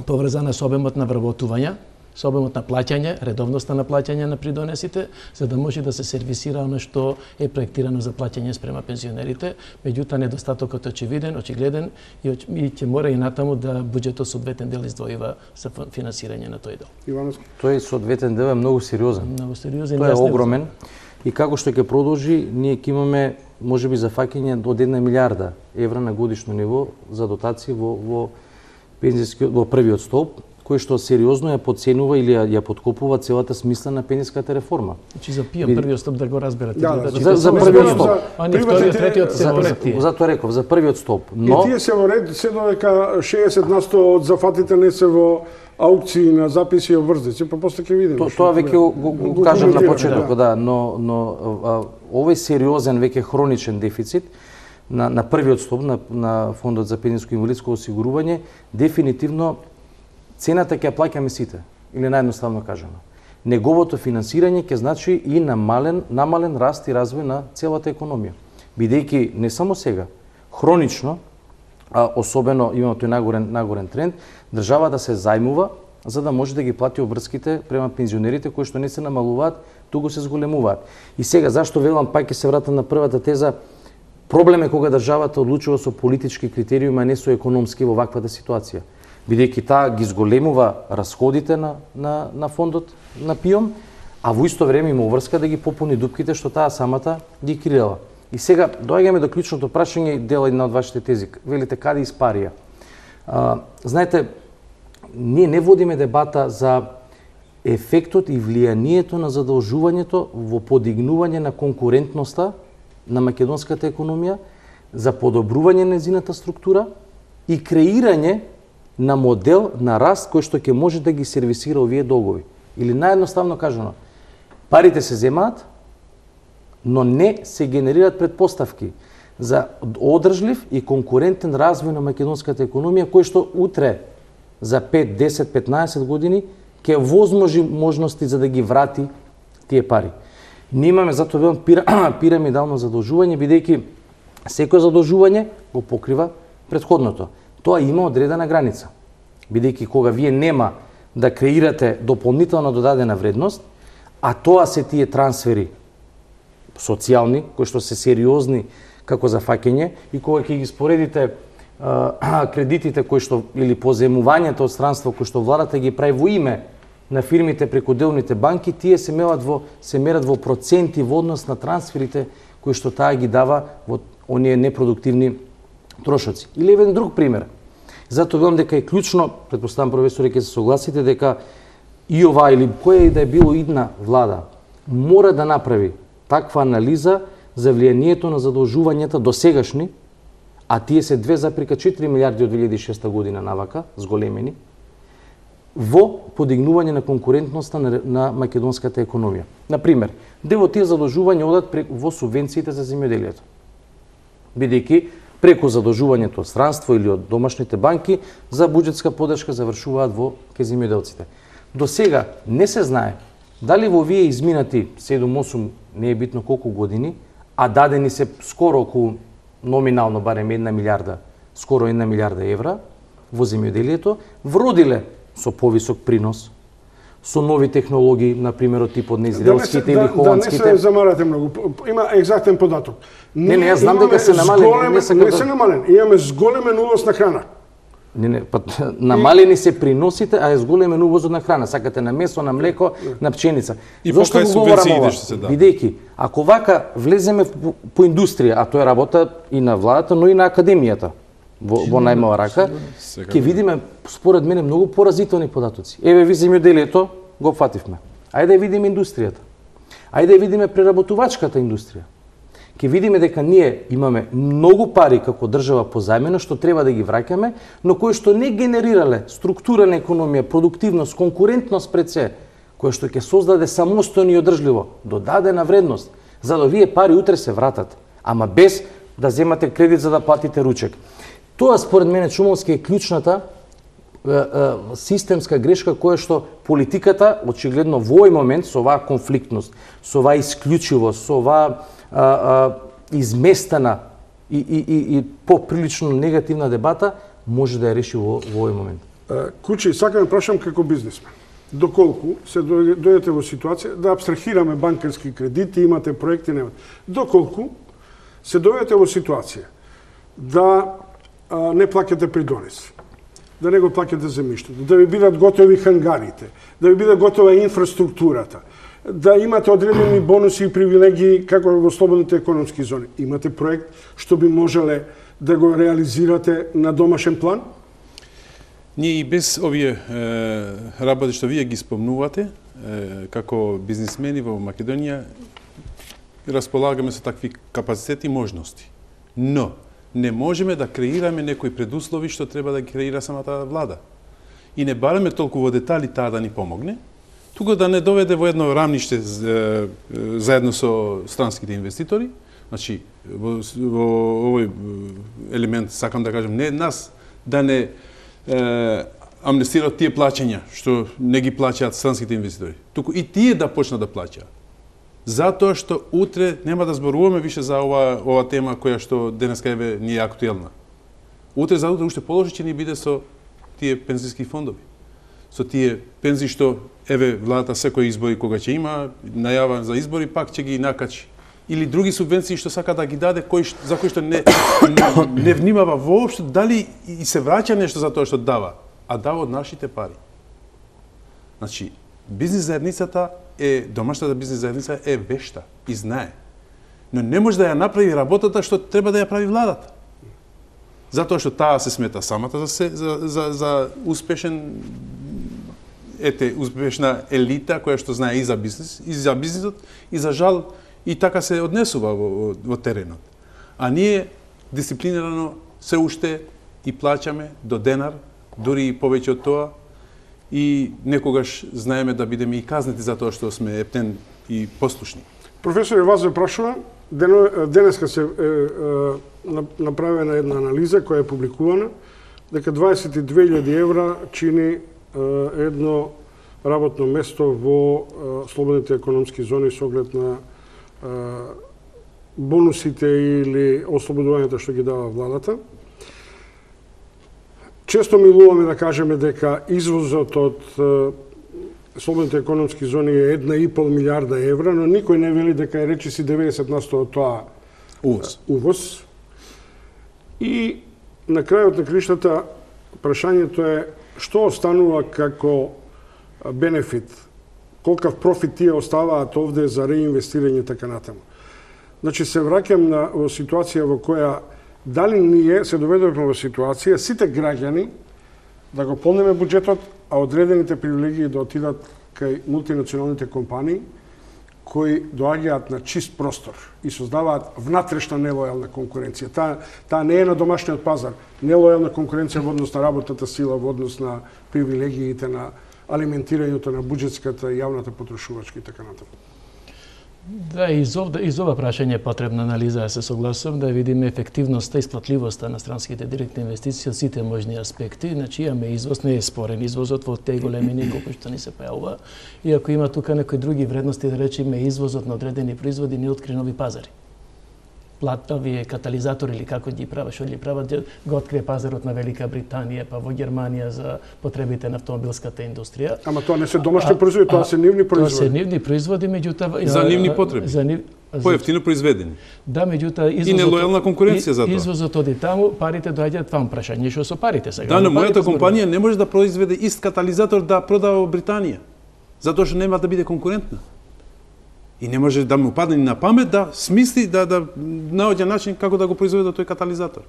поврзана со обемот на вработувања, со обемот на плаќање, редовноста на плаќање на придонесите, за да може да се сервисира оно што е проектирано за плаќање спрема пензионерите, меѓутоа недостатокот е очевиден, очигледен и ќе мора и натаму да буџетот соодветен дел издвојува за финансирање на тој дел. Ивановски. Тој соодветен дел е многу сериозен. Многу сериозен. Тој е огромен и како што ќе продолжи, ние ќе имаме можеби зафаќање од 1 милиарда евра на годишно ниво за дотации во пензискиот во првиот столб, кој што сериозно ја подценува или ја подкопува целата смисла на пензиската реформа. Значи за ПИО првиот столб да го разберете. За првиот столб. Они вториот, третиот се во ред тие. Затоа реков, за првиот столб. Но и тие се во ред, се додека 60% од зафатите не се во аукции на записи и обврзници, па после ќе видиме. Тоа веќе го кажав на почетокот, да, но овој сериозен веќе хроничен дефицит на првиот столб на фондот за пензиско и инвалидско осигурување дефинитивно цената ќе плаќаме сите, или наједноставно кажано. Неговото финансирање ќе значи и намален раст и развој на целата економија. Бидејќи не само сега, хронично, а особено имаме тој нагорен тренд, државата се зајмува за да може да ги плати обврските према пензионерите кои што не се намалуваат, туку се зголемуваат. И сега зашто велам, пак ќе се вратам на првата теза, проблем е кога државата одлучува со политички критериуми, а не со економски во ваквата ситуација. Бидејќи таа ги зголемува расходите на фондот на ПИОМ, а во исто време има врска да ги попуни дупките што таа самата ги креала. И сега доаѓаме до клучното прашање и дел една од вашите тези. Велите каде испарија? Знаете, ние не водиме дебата за ефектот и влијанието на задолжувањето во подигнување на конкурентноста на македонската економија, за подобрување на незината структура и креирање на модел на раст кој што ќе може да ги сервисира овие долгови. Или наједноставно кажано, парите се земаат, но не се генерираат предпоставки за одржлив и конкурентен развој на македонската економија, кој што утре за 5, 10, 15 години ќе возможи можности за да ги врати тие пари. Ние имаме затоа велам пирамидално задолжување, бидејќи секој задолжување го покрива претходното. Тоа има одредена граница. Бидејќи кога вие нема да креирате дополнителна додадена вредност, а тоа се тие трансфери социјални, кои што се сериозни како за фаќање, и кога ќе ги споредите кредитите кои што или поземувањето од странство кои што владата ги прави во име на фирмите преку делните банки, тие се мерат во проценти во однос на трансферите кои што таа ги дава во оние непродуктивни трошоци. Или еден друг пример. Затоа велам дека е клучно, претпоставам професоре ќе се согласите, дека и ова или која и да е било идна влада мора да направи таква анализа за влијанието на задолжувањата досегашни, а тие се 2,4 милиарди од 2006 година навака, зголемени, во подигнување на конкурентноста на македонската економија. Например, дел од тие задолжувања одат во субвенциите за земјоделието. бидејќи преку задолжувањето од странство или од домашните банки за буџетска поддршка завршуваат во ке земјоделците. До сега не се знае дали во овие изминати 7-8, не е битно колку години, а дадени се скоро околу номинално барем 1 милиарда, скоро 1 милиарда евра во земјоделието, вродиле со повисок принос, со нови технологии, на пример од типот на израелските или холандските. Да не се замарате многу. Има екзактен податок. Не, јас знам дека се намалени. Не се намалени. Имаме зголемен увоз на храна. Не, па намалени се приносите, а е зголемен увозот на храна. Сакате на месо, на млеко, на пшеница. И зошто го говорам ова? Бидејќи, ако вака влеземе по индустрија, а тоа е работа и на владата, но и на академијата, во најмала рака, ќе видиме, според мене, многу поразителни податоци. Еве, ви земјоделието го фативме. Ајде да видиме индустријата. Ајде да видиме преработувачката индустрија. Ќе видиме дека ние имаме многу пари како држава позајмено што треба да ги враќаме, но кои што не генерирале структура на економија, продуктивност, конкурентност пред се, кој што ќе создаде самостојно и одржливо додадена вредност, за да вие пари утре се вратат, ама без да земате кредит за да платите ручек. Тоа според мене, Чумовски, е клучната системска грешка која што политиката очигледно во овој момент со оваа конфликтност, со оваа исклучивост, со оваа изместена и поприлично негативна дебата може да ја реши во овој момент. Кучи, сакам да прашам како бизнисмен. Доколку се дојдете во ситуација да абстрахираме банкарски кредити, имате проекти, немате. Доколку се дојдете во ситуација да не плаќате придонеси, да не го плаќате земјиштето, да ви бидат готови хангарите, да ви биде готова инфраструктурата, да имате одредени бонуси и привилегии како во слободните економски зони. Имате проект што би можеле да го реализирате на домашен план? Ние и без овие работи што вие ги спомнувате, како бизнисмени во Македонија, располагаме со такви капацитети и можности. Но не можеме да креираме некои предуслови што треба да ги креира самата влада. И не бараме толку во детали таа да ни помогне, туку да не доведе во едно рамниште заедно со странските инвеститори. Значи, во овој елемент, сакам да кажам, не нас да не амнестираат тие плаќања што не ги плаќаат странските инвеститори, туку и тие да почнат да плаќаат. Затоа што утре нема да зборуваме више за ова тема која што денеска еве ни е актуелна. Утре за утре уште положи ќе ни биде со тие пензиски фондови. Со тие пензии што еве владата секој избори кога ќе има најава за избори пак ќе ги накачи. Или други субвенции што сака да ги даде за кои што не внимава воопшто дали и се враќа нешто за тоа што дава, а дава од нашите пари. Значи, бизнис заедницата домашната бизнис заедница е вешта и знае. Но не може да ја направи работата што треба да ја прави владата. Затоа што таа се смета самата за успешен успешна елита која што знае и за бизнисот и за жал и така се однесува во теренот. А ние дисциплинирано се уште и плаќаме до денар, дури и повеќе од тоа, и некогаш знаеме да бидеме и казнети за тоа што сме ептен и послушни. Професоре, вас ве прашува, денеска се направена една анализа која е публикувана, дека 22.000 евра чини едно работно место во слободните економски зони со оглед на бонусите или ослободувањето што ги дава владата. Често милуваме да кажеме дека извозот од слободните економски зони е 1,5 милиарда евра, но никој не вели дека е речиси 90% од тоа увоз. И на крајот на криштата прашањето е што останува како бенефит, колкав профит тие оставаат овде за реинвестирање така натаму. Значи се враќам во ситуација во која дали ние се доведовме во ситуација сите граѓани да го полнеме буџетот, а одредените привилегии да отидат кај мултинационалните компании кои доаѓаат на чист простор и создаваат внатрешна нелојална конкуренција. Таа не е на домашниот пазар. Нелојална конкуренција во однос на работната сила, во однос на привилегиите, на алиментирањето на буџетската и јавната потрошувачка и така натаму. Да, из ова прашање е потребна анализа, ја се согласувам, да видиме ефективноста и сплатливоста на странските директни инвестиции од сите можни аспекти. Значи, имаме извоз, не е спорен извозот во теј големини колку што ни се појавува. И ако има тука некои други вредности, да речеме извозот на одредени производи, не откри нови пазари. Овие катализатори или како ги прават, што ги прават, го открие пазарот на Велика Британија, па во Германија за потребите на автомобилската индустрија. Ама тоа не се домашни производи, тоа се нивни производи. Тоа се нивни производи, меѓутоа за нивни потреби. Поевтино произведени. Да, меѓутоа и нелојална конкуренција за тоа. Извозот оди таму, парите доаѓаат вам, прашање што со парите сега. Да, но мојата компанија не може да произведе ист катализатор да продава во Британија, затоа што нема да биде конкурентна. И не може да му падне на памет да смисли да наоѓа начин како да го произведе тој катализатор.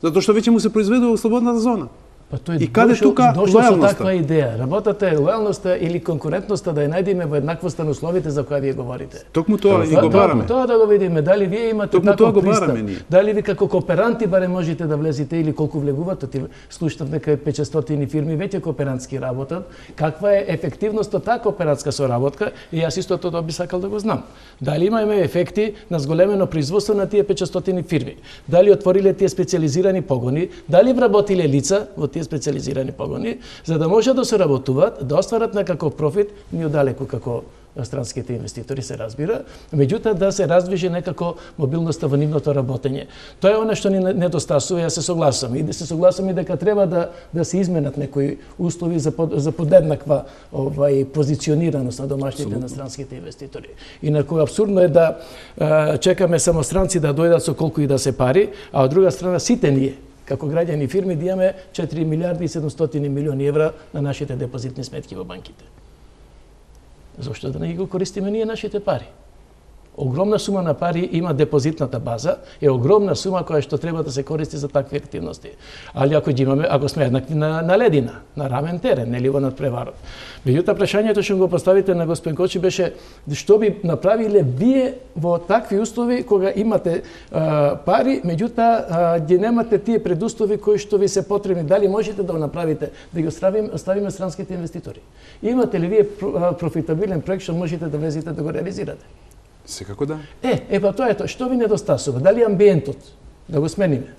Затоа што веќе му се произведува во слободната зона. Па тој и каде тука лојалноста? Со таква идеја. Работата е лојалноста или конкурентноста да ја најдеме во еднаквост на условите за која вие говорите. Токму тоа и го бараме. Тоа да го видиме, дали вие имате таков пристап. Дали ви како кооперанти барем можете да влезете или колку влегувате. Слушнав дека 500 фирми веќе кооперантски работат. Каква е ефективноста таа кооперантска соработка? И јас исто тоа би сакал да го знам. Дали имаме ефекти на зголемено производство на тие 500 фирми? Дали отвориле тие специализирани погони? Дали вработиле лица во тие специализирани погони, за да може да се работуваат, да остварат некаков профит, ни одалеку како странските инвеститори се разбира, меѓутоа да се раздвижи некако мобилноста во нивното работење. Тоа е она што ни недостасува, јас се согласувам. И да се согласувам и дека треба да се изменат некои услови за подеднаква позиционираност на домашните на странските инвеститори. Инаку абсурдно е да чекаме само странци да дојдат со колку и да се пари, а од друга страна сите ние како граѓани и фирми да имаме 4 милиарди и 700 милиони евра на нашите депозитни сметки во банките. Зошто да не ги го користиме ние нашите пари? Огромна сума на пари има депозитната база, е огромна сума која што треба да се користи за такви активности. Али ако ги имаме, ако сме еднакви на ледина, на равен терен, нели во надпреварот. Меѓутоа прашањето што го поставите на господин Кочи беше што би направиле вие во такви услови кога имате пари, меѓутоа ги немате тие предуслови кои што ви се потребни. Дали можете да го направите, да ги оставиме странските инвеститори? Имате ли вие профитабилен проект што можете да влезете да го реализирате? Секако да. Па тоа е тоа. Што ви недостасува? Дали амбиентот да го смениме?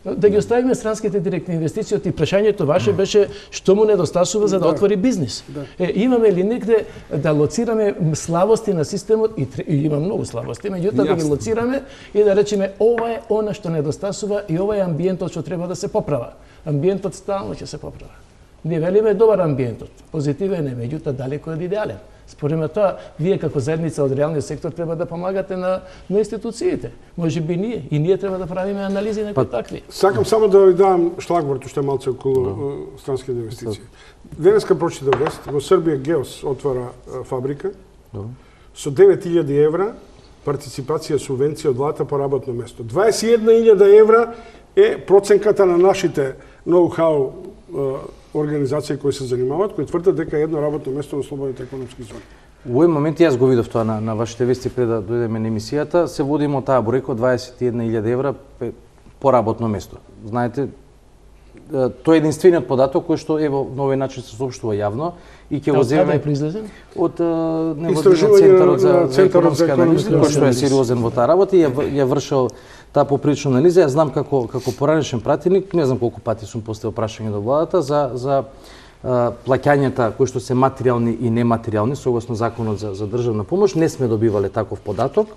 Да ги оставиме странските директни инвестиции, и прашањето ваше беше што му недостасува за да отвори бизнис. Имаме ли негде да лоцираме слабости на системот, и има многу слабости, меѓутоа да ги лоцираме и да речеме ова е она што недостасува и ова е амбиентот што треба да се поправа. Амбиентот стално ќе се поправа. Ние велиме добар амбиентот, позитивен е, меѓутоа далеку од идеален. Според ме тоа, вие како заедница од реалниот сектор треба да помагате на институциите. Може би ние треба да правиме анализи некои такви. Сакам само да ви дам шлагворд уште малце околу странските инвестиции. Денеска прочитав вест, во Србија Геос отвара фабрика со 9.000 евра партиципација субвенција од владата по работно место. 21.000 евра е проценката на нашите ноу-хау организации кои се занимаваат, кои тврдат дека едно работно место на слободните економски зони. Во овој момент јас го видов тоа на вашите вести пред да дојдеме на емисијата, се водимо таа бројка 21.000 евра по работно место. Знаете, тоа е единствениот податок кој што ево на овој начин се соопштува јавно и ќе го земеме од Центарот за економска анализа, кој што е сериозен во таа работа и ја вршил таа поприлична анализа. Јас знам како поранешен пратеник, не знам колку пати сум поставил прашање до владата за плаќањата кои што се материјални и нематеријални согласно законот за државна помош. Не сме добивале таков податок,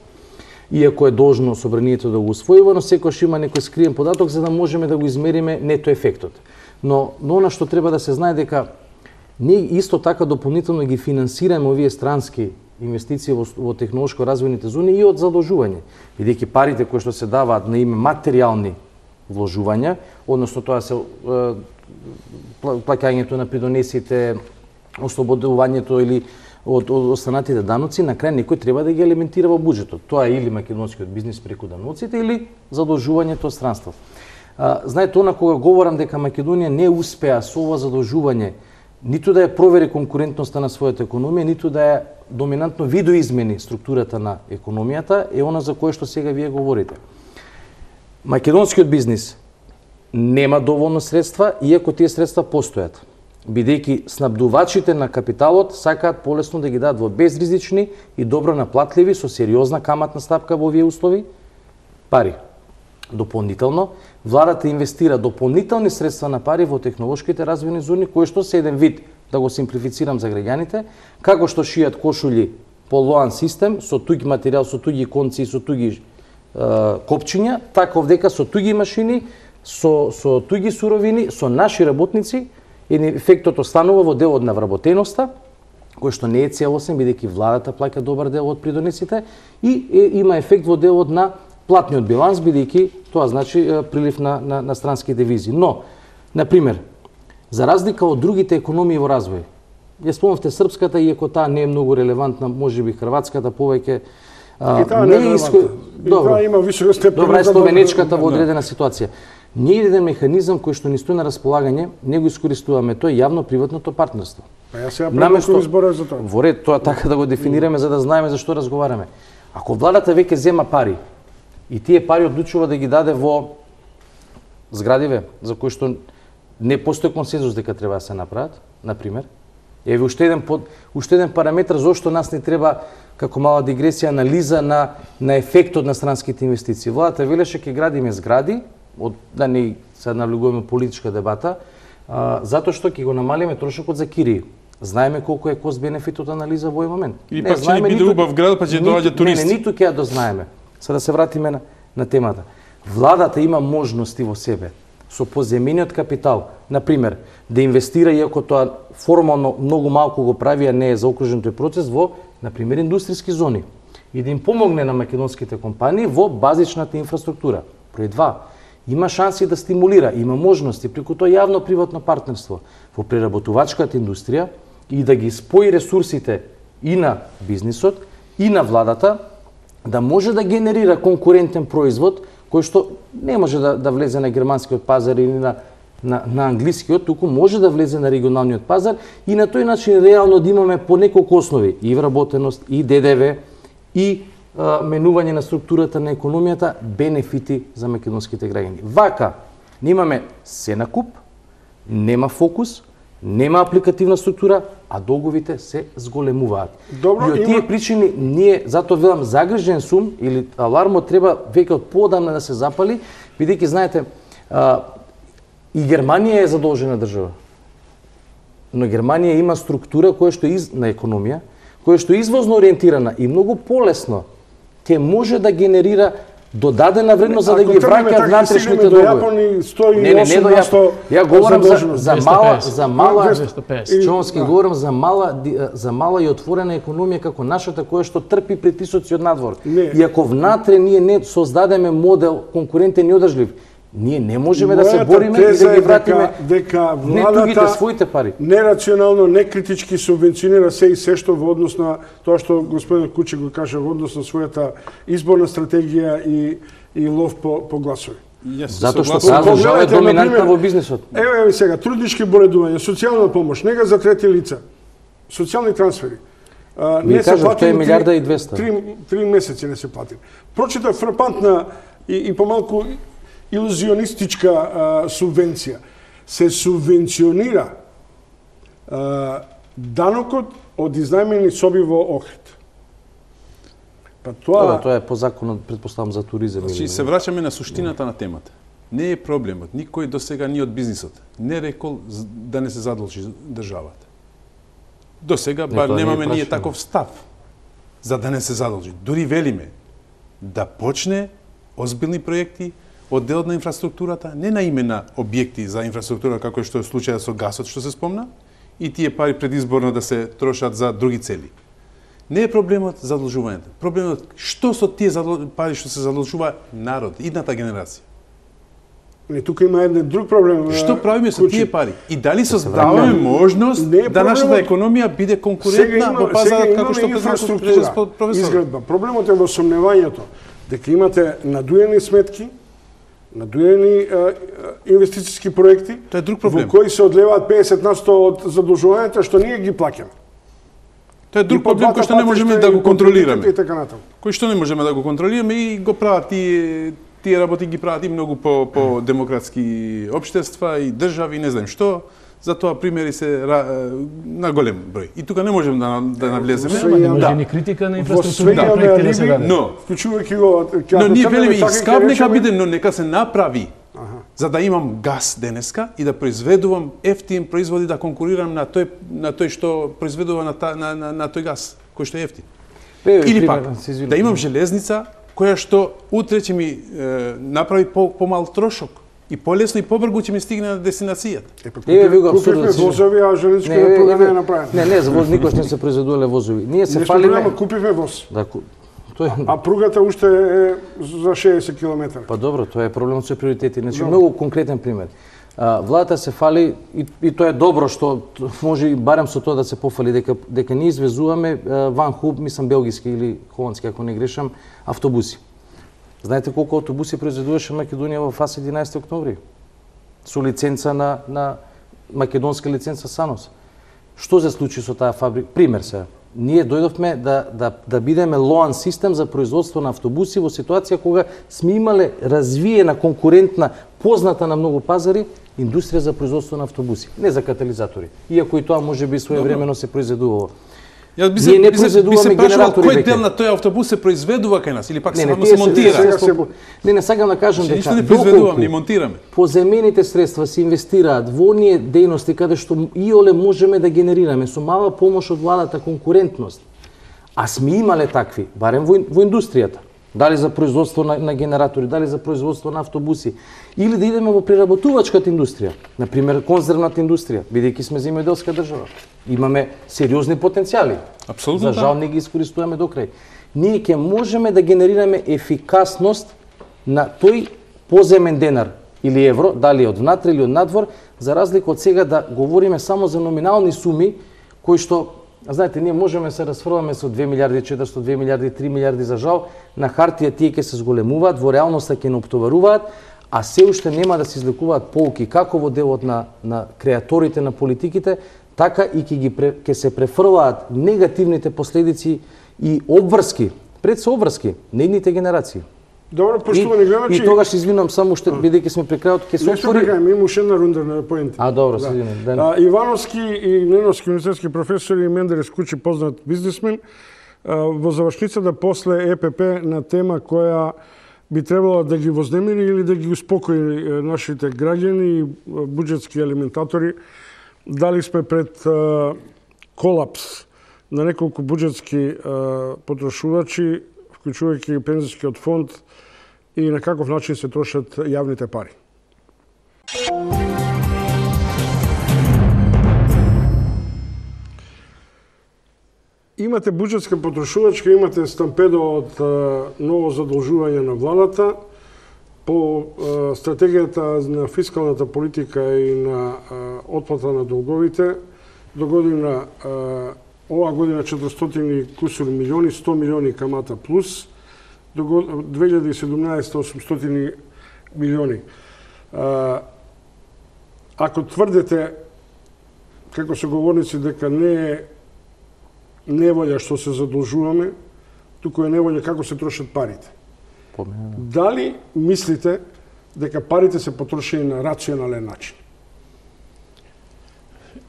иако е должно собранието да го усвојува, но секогаш има некој скриен податок за да можеме да го измериме нето ефектот. Но она што треба да се знае дека ние исто така дополнително ги финансираме овие странски инвестиции во технолошко развојните зони и од задолжување, бидејќи парите кои што се даваат на име материјални вложувања, односно тоа се плаќањето на придонесите, ослободувањето или од останатите даноци, на крај некој треба да ги елементира во буџетот. Тоа е или македонскиот бизнис преку даноците или задолжувањето од странство. Знаете, она кога говорам дека Македонија не успеа со ова задолжување ниту да ја провери конкурентноста на својата економија, ниту да ја доминантно видоизмени структурата на економијата, е она за кое што сега вие говорите. Македонскиот бизнис нема доволно средства, иако тие средства постојат. бидејќи снабдувачите на капиталот сакаат полесно да ги дадат во безризични и добро наплатливи со сериозна каматна стапка во овие услови пари. Дополнително, владата инвестира дополнителни средства на пари во технолошките развојни зони, кои што се еден вид, да го симплифицирам за граѓаните, како што шијат кошули по лоан систем, со туѓ материјал, со туѓи конци и со туѓи копчиња, така овдека со туѓи машини, со туѓи суровини, со наши работници, и ефектот останува во дел од навработеноста, кој што не е целосен, бидејќи владата плаќа добар дел од придонесите, и има ефект во делот на платниот биланс, бидејќи тоа значи прилив на странски девизи. Но, например, за разлика од другите економии во развој, ја спомнавте српската, иако таа не е многу релевантна, можеби хрватската повеќе не е Добро, има висока степен. Добра е словенечката во одредена ситуација. Ние еден механизам кој што ни стои на располагање, не го искористуваме, тоа е јавно-приватното партнерство. Па ја сега предлагам избора за тоа. Во ред, тоа така да го дефинираме за да знаеме за што разговараме. Ако владата веќе зема пари и тие пари одлучува да ги даде во зградиве за кои што не постои консензус дека треба да се направат, на пример, еве уште еден параметар зошто нас не треба, како мала дигресија, анализа на ефектот на странските инвестиции. Владата велеше ќе градиме згради, да не се навлегуваме политичка дебата, затоа што ќе го намалиме трошокот за кирии. Знаеме колку е кост-бенефит од анализа во овој момент. И пак ќе биде убав град, па ќе доаѓаат туристи. Не, ниту ќе ја дознаеме. Сега да се вратиме на темата. Владата има можности во себе со поземениот капитал, на пример, да инвестира, иако тоа формално многу малку го прави, а не е заокружен тој процес, во, на пример, индустријски зони и да им помогне на македонските компании во базичната инфраструктура. Број 2, има шанси да стимулира, има можности преку тоа јавно-приватно партнерство во преработувачката индустрија и да ги спои ресурсите и на бизнисот и на владата, да може да генерира конкурентен производ кој што не може да влезе на германскиот пазар или на англискиот, туку може да влезе на регионалниот пазар и на тој начин реално да имаме по неколку основи, и вработеност, и ДДВ, и менување на структурата на економијата, бенефити за македонските граѓани. Вака, немаме се на куп, нема фокус, нема апликативна структура, а долговите се зголемуваат. Добро, и од тие причини ние, затоа велам, загрижен сум или алармот треба веќе од поодамна да се запали, бидејќи знаете, и Германија е задолжена држава. Но Германија има структура која што на економија, која што е извозно ориентирана и многу полесно ќе може да генерира додадена вредност за да ги враќа внатрешните долгови. Не до Јапон. Ја говорам за мала Чонски, говорам за мала и отворена економија како нашата која што трпи притисоци од надвор. И ако внатре ние не создадеме модел конкурентен и одржлив, ние не можеме да се бориме и да ги вратиме не тугите своите пари. Нерационално, некритички субвенционира се и се што во однос на тоа што господин Кучи го каже во однос на својата изборна стратегија и лов по гласови. Затоа што таа држава е доминантна во бизнисот. Еве сега, труднички боледување, социјална помош, нега за трети лица, социјални трансфери. Не се плати 1.200.000.000. 3 месеци не се плати. Прочита фрапантна и помалку илузионистичка субвенција. Се субвенционира данокот од изнајмени соби во Охрид. Па тоа е по законот, претпоставам, за туризам. Значи, се враќаме на суштината на темата. Не е проблемот. Никој досега ни од бизнисот не рекол да не се задолжи државата. Досега бар немаме ние таков став за да не се задолжи. Дури велиме да почне озбилни проекти од делот на инфраструктурата, не на име на објекти за инфраструктура, како што е случајот со гасот што се спомна, и тие пари предизборно да се трошат за други цели. Не е проблемот задолжувањето. Проблемот што со тие пари што се задолжува народ, идната генерација. Не, тука има еден друг проблем. Што правиме со тие пари? И дали создаваме можност да нашата економија биде конкурентна во пазарот како што инфраструктура, изградба. Проблемот е во сомневањето дека имате надуени сметки, надуени инвестициски проекти, тоа е друг проблем, во кои се одлеваат 50% од задолжувањата што ние ги плаќаме. Тоа е друг проблем кој што не можеме да го контролираме. Кој што не можеме да го контролираме и го прават тие работи ги прават и многу по демократски општества и држави, не знам што, Затоа примери се на голем број. И тука не можем да навлеземе. Не може ни критика на инфраструктурните проекти да се даде. Но Но ние велиме и скап нека биде, но нека се направи. За да имам газ денеска и да произведувам ефтин производи, да конкурирам на тој што произведува на тој газ, кој што е ефтин. Или пак, да имам железница која што утре ќе ми направи помал трошок и полесно и побрзо ќе ми стигне на дестинацијата. Купивме возови, а железничката пруга не е направена. Не, за воз никош не се произведувале возови. Ние се фалиме. Купивме воз. Да, а пругата уште е за 60 км. Па добро, тоа е проблемот со приоритети. Значи, многу конкретен пример. Владата се фали и тоа е добро што може и барем со тоа да се пофали дека ние извезуваме ван хуб, мислам белгиски или холандски ако не грешам, автобуси. Знаете колку автобуси произведуваше Македонија во ФАС 11 октомври? Со лиценца на македонска лиценца САНОС. Што се случи со таа фабрика? Пример се. Ние дојдовме да бидеме лоан систем за производство на автобуси во ситуација кога сме имале развиена, конкурентна, позната на многу пазари индустрија за производство на автобуси, не за катализатори. Иако и тоа може би своевремено се произведувало. Ние не произведуваме генератори. Кој дел на тој автобус се произведува кај нас или пак само се монтира? Не сакам да кажам дека не произведуваме, не монтираме. Поземените средства се инвестираат во оние дејности каде што иоле можеме да генерираме со мала помош од владата конкурентност. А сме имале такви, барем во индустријата. Дали за производство на генератори, дали за производство на автобуси, или да идеме во преработувачката индустрија, например конзервната индустрија, бидејќи сме земјоделска држава. Имаме сериозни потенцијали. Апсолутно. За жал не ги искористуваме до крај. Ние ќе можеме да генерираме ефикасност на тој поземен денар или евро, дали од внатре или од надвор, за разлика од сега да говориме само за номинални суми кои што знаете, ние можеме се расфрламе со 2 милиарди 400, 2 милиарди 3 милиарди за жал, на хартија тие ќе се зголемуваат, во реалноста ќе не оптоваруваат, а се уште нема да се излекуваат полки како во делот на креаторите на политиките, така и ќе се префрлаат негативните последици и обврски, пред се обврски, нейните генерации. Добро, поштовани гледачи. И тогаш извинувам само уште бидејќи сме при крајот ќе се отвори. Не има уште една рунда на поенти. Добро, се извинувам. Ивановски и Неновски универзитетски професори Мендерес Кучи, познат бизнисмен, во завршницата после ЕПП на тема која би требало да ги вознемири или да ги успокои нашите граѓани и буџетски алиментатори. Дали сме пред колапс на неколку буџетски потрошувачи, вклучувајќи пензискиот фонд, и на каков начин се трошат јавните пари. Имате буџетска потрошувачка, имате стампедо од ново задолжување на владата. По стратегијата на фискалната политика и на отплата на долговите, до година, ова година 400 кусур милиони, 100 милиони камата плюс, до 2017 800 милиони. Ако тврдите, како соговорници, дека не е неволја што се задолжуваме, туку е неволја како се трошат парите. Дали мислите дека парите се потрошени на рационален начин?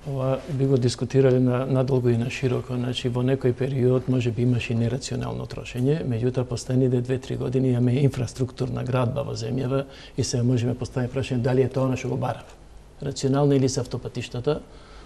Ова би го дискутирале надолго и на широко. Значи, во некој период може би имаше нерационално трошење, меѓутоа последните 2-3 години имаме инфраструктурна градба во земјава и се можеме постави прашање дали е тоа што го барав. Рационално или се автопатиштата,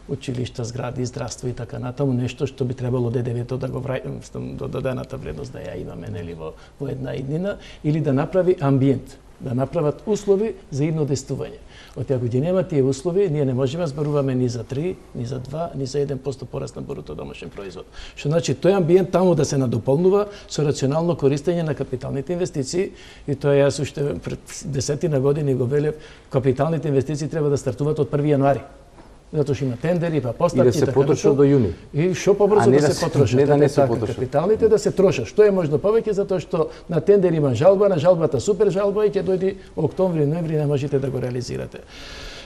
училишта, згради, здравство и така натаму, нешто што би требало ДДВ-то да го до додадената вредност да ја имаме нели во една иднина, или да направи амбиент, да направат услови за идно действување. Ако ги нема тие услови, ние не можеме зборуваме ни за 3, ни за 2, ни за 1% пораст на бруто домашен производ. Што значи тој амбиент таму да се надополнува со рационално користење на капиталните инвестиции, и тоа јас уште пред 10 години го велев, капиталните инвестиции треба да стартуваат од 1 јануари. Затоа што има тендери, па поставки и да се потрошат до јуни. И што побрзо да се потрошат. Не да не се потрошат. Капиталните да се трошат. Што е можно повеќе, затоа што на тендер има жалба, на жалбата супер жалба и ќе дојде октомври, ноември не можете да го реализирате.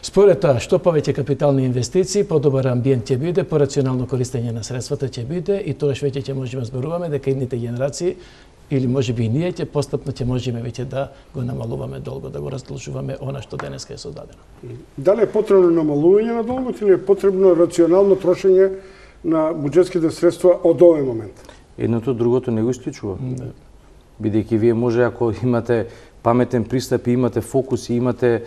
Според тоа, што повеќе капитални инвестиции, подобар амбиент ќе биде, порационално користење на средствата ќе биде и тоа веќе ќе можеме зборуваме дека идните генерации или можеби и ние ќе постапно ќе можеме веќе да го намалуваме долго, да го раздолжуваме она што денеска е создадено. Дали е потребно намалување на долгот или е потребно рационално трошење на буџетските средства од овој момент? Едното другото не го исклучува. Бидејќи вие може, ако имате паметен пристап и имате фокус и имате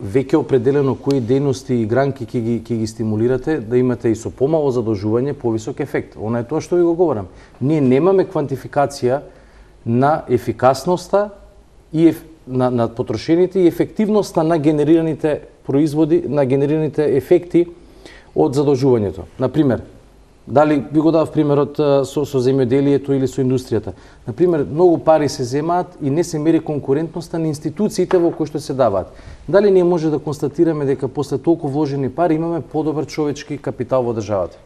веќе определено кои дејности и гранки ќе ги стимулирате, да имате и со помало задолжување повисок ефект. Она е тоа што ви го говорам. Ние немаме квантификација на ефикасноста и на потрошените и ефективноста на генерираните производи, на генерираните ефекти од задолжувањето. Например, дали би го дав примерот со земјоделието или со индустријата. Например, многу пари се земаат и не се мери конкурентноста на институциите во кои што се даваат. Дали ние може да констатираме дека после толку вложени пари имаме подобар човечки капитал во државата?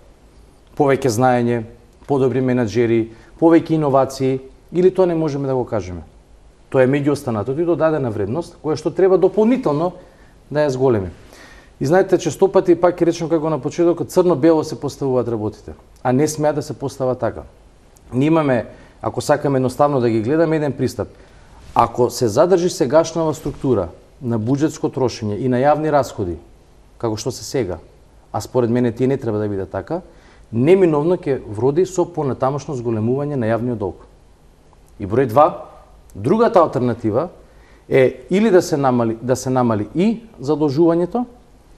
Повеќе знаење, подобри менаџери, повеќе иновации, или тоа не можеме да го кажеме? Тоа е меѓу останатото и додадена вредност, која што треба дополнително да ја зголеми. И знаете, често пати, пак ќе речем како на почетокот, црно-бело се поставуваат работите, а не смеа да се постава така. Ние имаме, ако сакаме едноставно да ги гледаме, еден пристап. Ако се задржи сегашнава структура на буџетско трошење и на јавни расходи, како што се сега, а според мене тие не треба да биде така, неминовно ќе вроди со понатамошно зголемување на јавниот долг. И број 2, другата алтернатива е или да се намали и задолжувањето,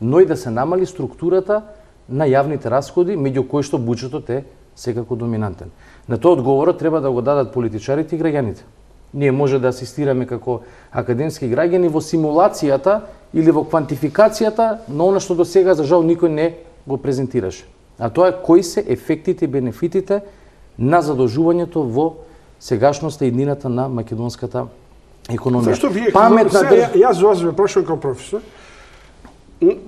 но и да се намали структурата на јавните расходи, меѓу кои што буџетот е секако доминантен. На тоа одговорот треба да го дадат политичарите и граѓаните. Ние може да асистираме како академски граѓани во симулацијата или во квантификацијата на она што до сега за жал никој не го презентираше. А тоа е кои се ефектите и бенефитите на задолжувањето во сегашноста и днината на македонската економија. Зашто вие јас за вас ве прашувам како професор,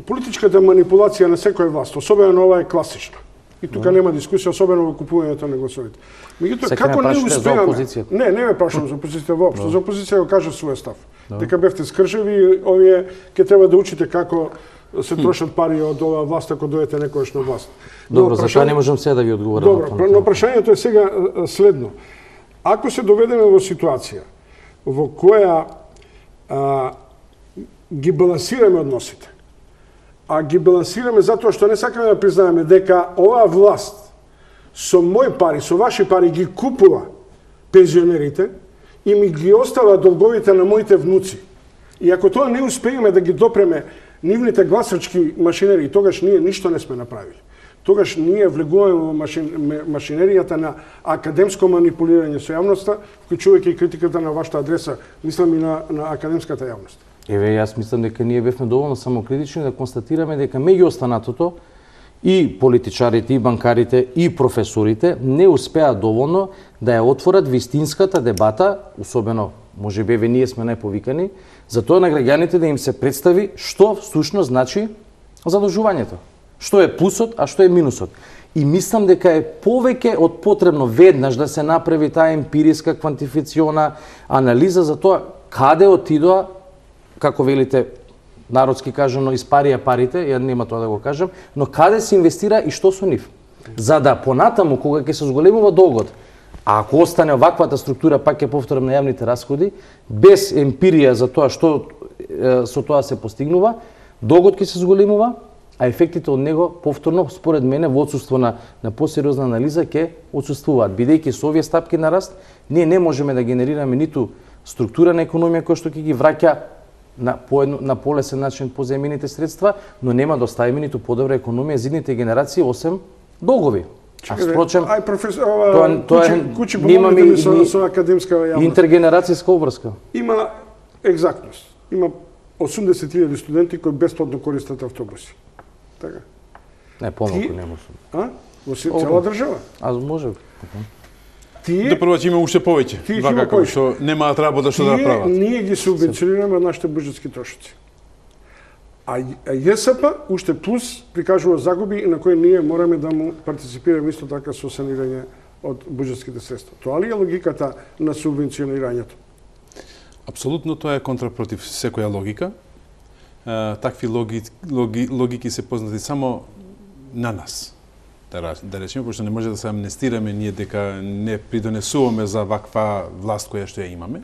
политичката манипулација на секоја власт, особено ова е класична. И тука нема дискусија, особено во купувањето на гласовите. Меѓутоа, како не успеаме? Не ме прашувам за опозицијата воопшто. За опозиција го кажа својот став. Дека бевте скржеви, овие ќе треба да учите како се трошат пари од оваа власт ако дојдете некојаш на власт. Добро, за тоа не можам сега да ви одговорам. Добро, но прашањето е сега следно. Ако се доведеме во ситуација во која ги балансираме односите, а ги балансираме затоа што не сакаме да признаеме дека оваа власт со мои пари, со ваши пари ги купува пензионерите и ми ги остава долговите на моите внуци. И ако тоа не успееме да ги допреме нивните гласачки машинери, тогаш ние ништо не сме направили. Тогаш ние влегуваме во машинеријата на академско манипулирање со јавноста, вклучувајќи и критиката на вашата адреса, мислам и на академската јавност. Еве, јас мислам дека ние бевме доволно самокритични да констатираме дека меѓу останатото и политичарите, и банкарите, и професорите не успеа доволно да ја отворат вистинската дебата, особено можеби ние сме најповикани, за тоа на граѓаните да им се представи што всушност значи задолжувањето. Што е плюсот, а што е минусот. И мислам дека е повеќе од потребно веднаш да се направи таа емпириска квантифициона анализа за тоа каде отидоа, како велите народски кажано, испарија парите, ја нема тоа да го кажам, но каде се инвестира и што со нив. За да понатаму, кога ќе се зголемува долгот, а ако остане оваквата структура, пак ќе повторам на јавните расходи, без емпирија за тоа што со тоа се постигнува, долгот ќе се зголемува, а ефектите од него повторно, според мене, во отсуство на посериозна анализа ќе отсуствуваат. Бидејќи со овие стапки на раст, ние не можеме да генерираме ниту структура на економија која што ќе ги враќа на полесен начин позајмените средства, но нема да оставиме ниту подобра економија за идните генерации, осем долгови. А впрочем, Кучи помогнете ми со академска јавност. Интергенерацијска обврска. Има екзактност. Има 80.000 студенти кои бесплатно користат автобуси. Така. Не, помалку не може. Во цела држава. А може. До прво ќе има уште повеќе. Вакако што немаат работа што да прават. Ние ги субвенционираме од нашите буџетски трошоци. А ЈСП уште плюс прикажува загуби и на кои ние мораме да му партиципираме исто така со санирање од буџетските средства. Тоа ли е логиката на субвенционирањето? Апсолутно тоа е контрапротив секоја логика. Такви логики се познати само на нас. да речеме, пошто не може да се амнестираме ние дека не придонесуваме за ваква власт која што ја имаме.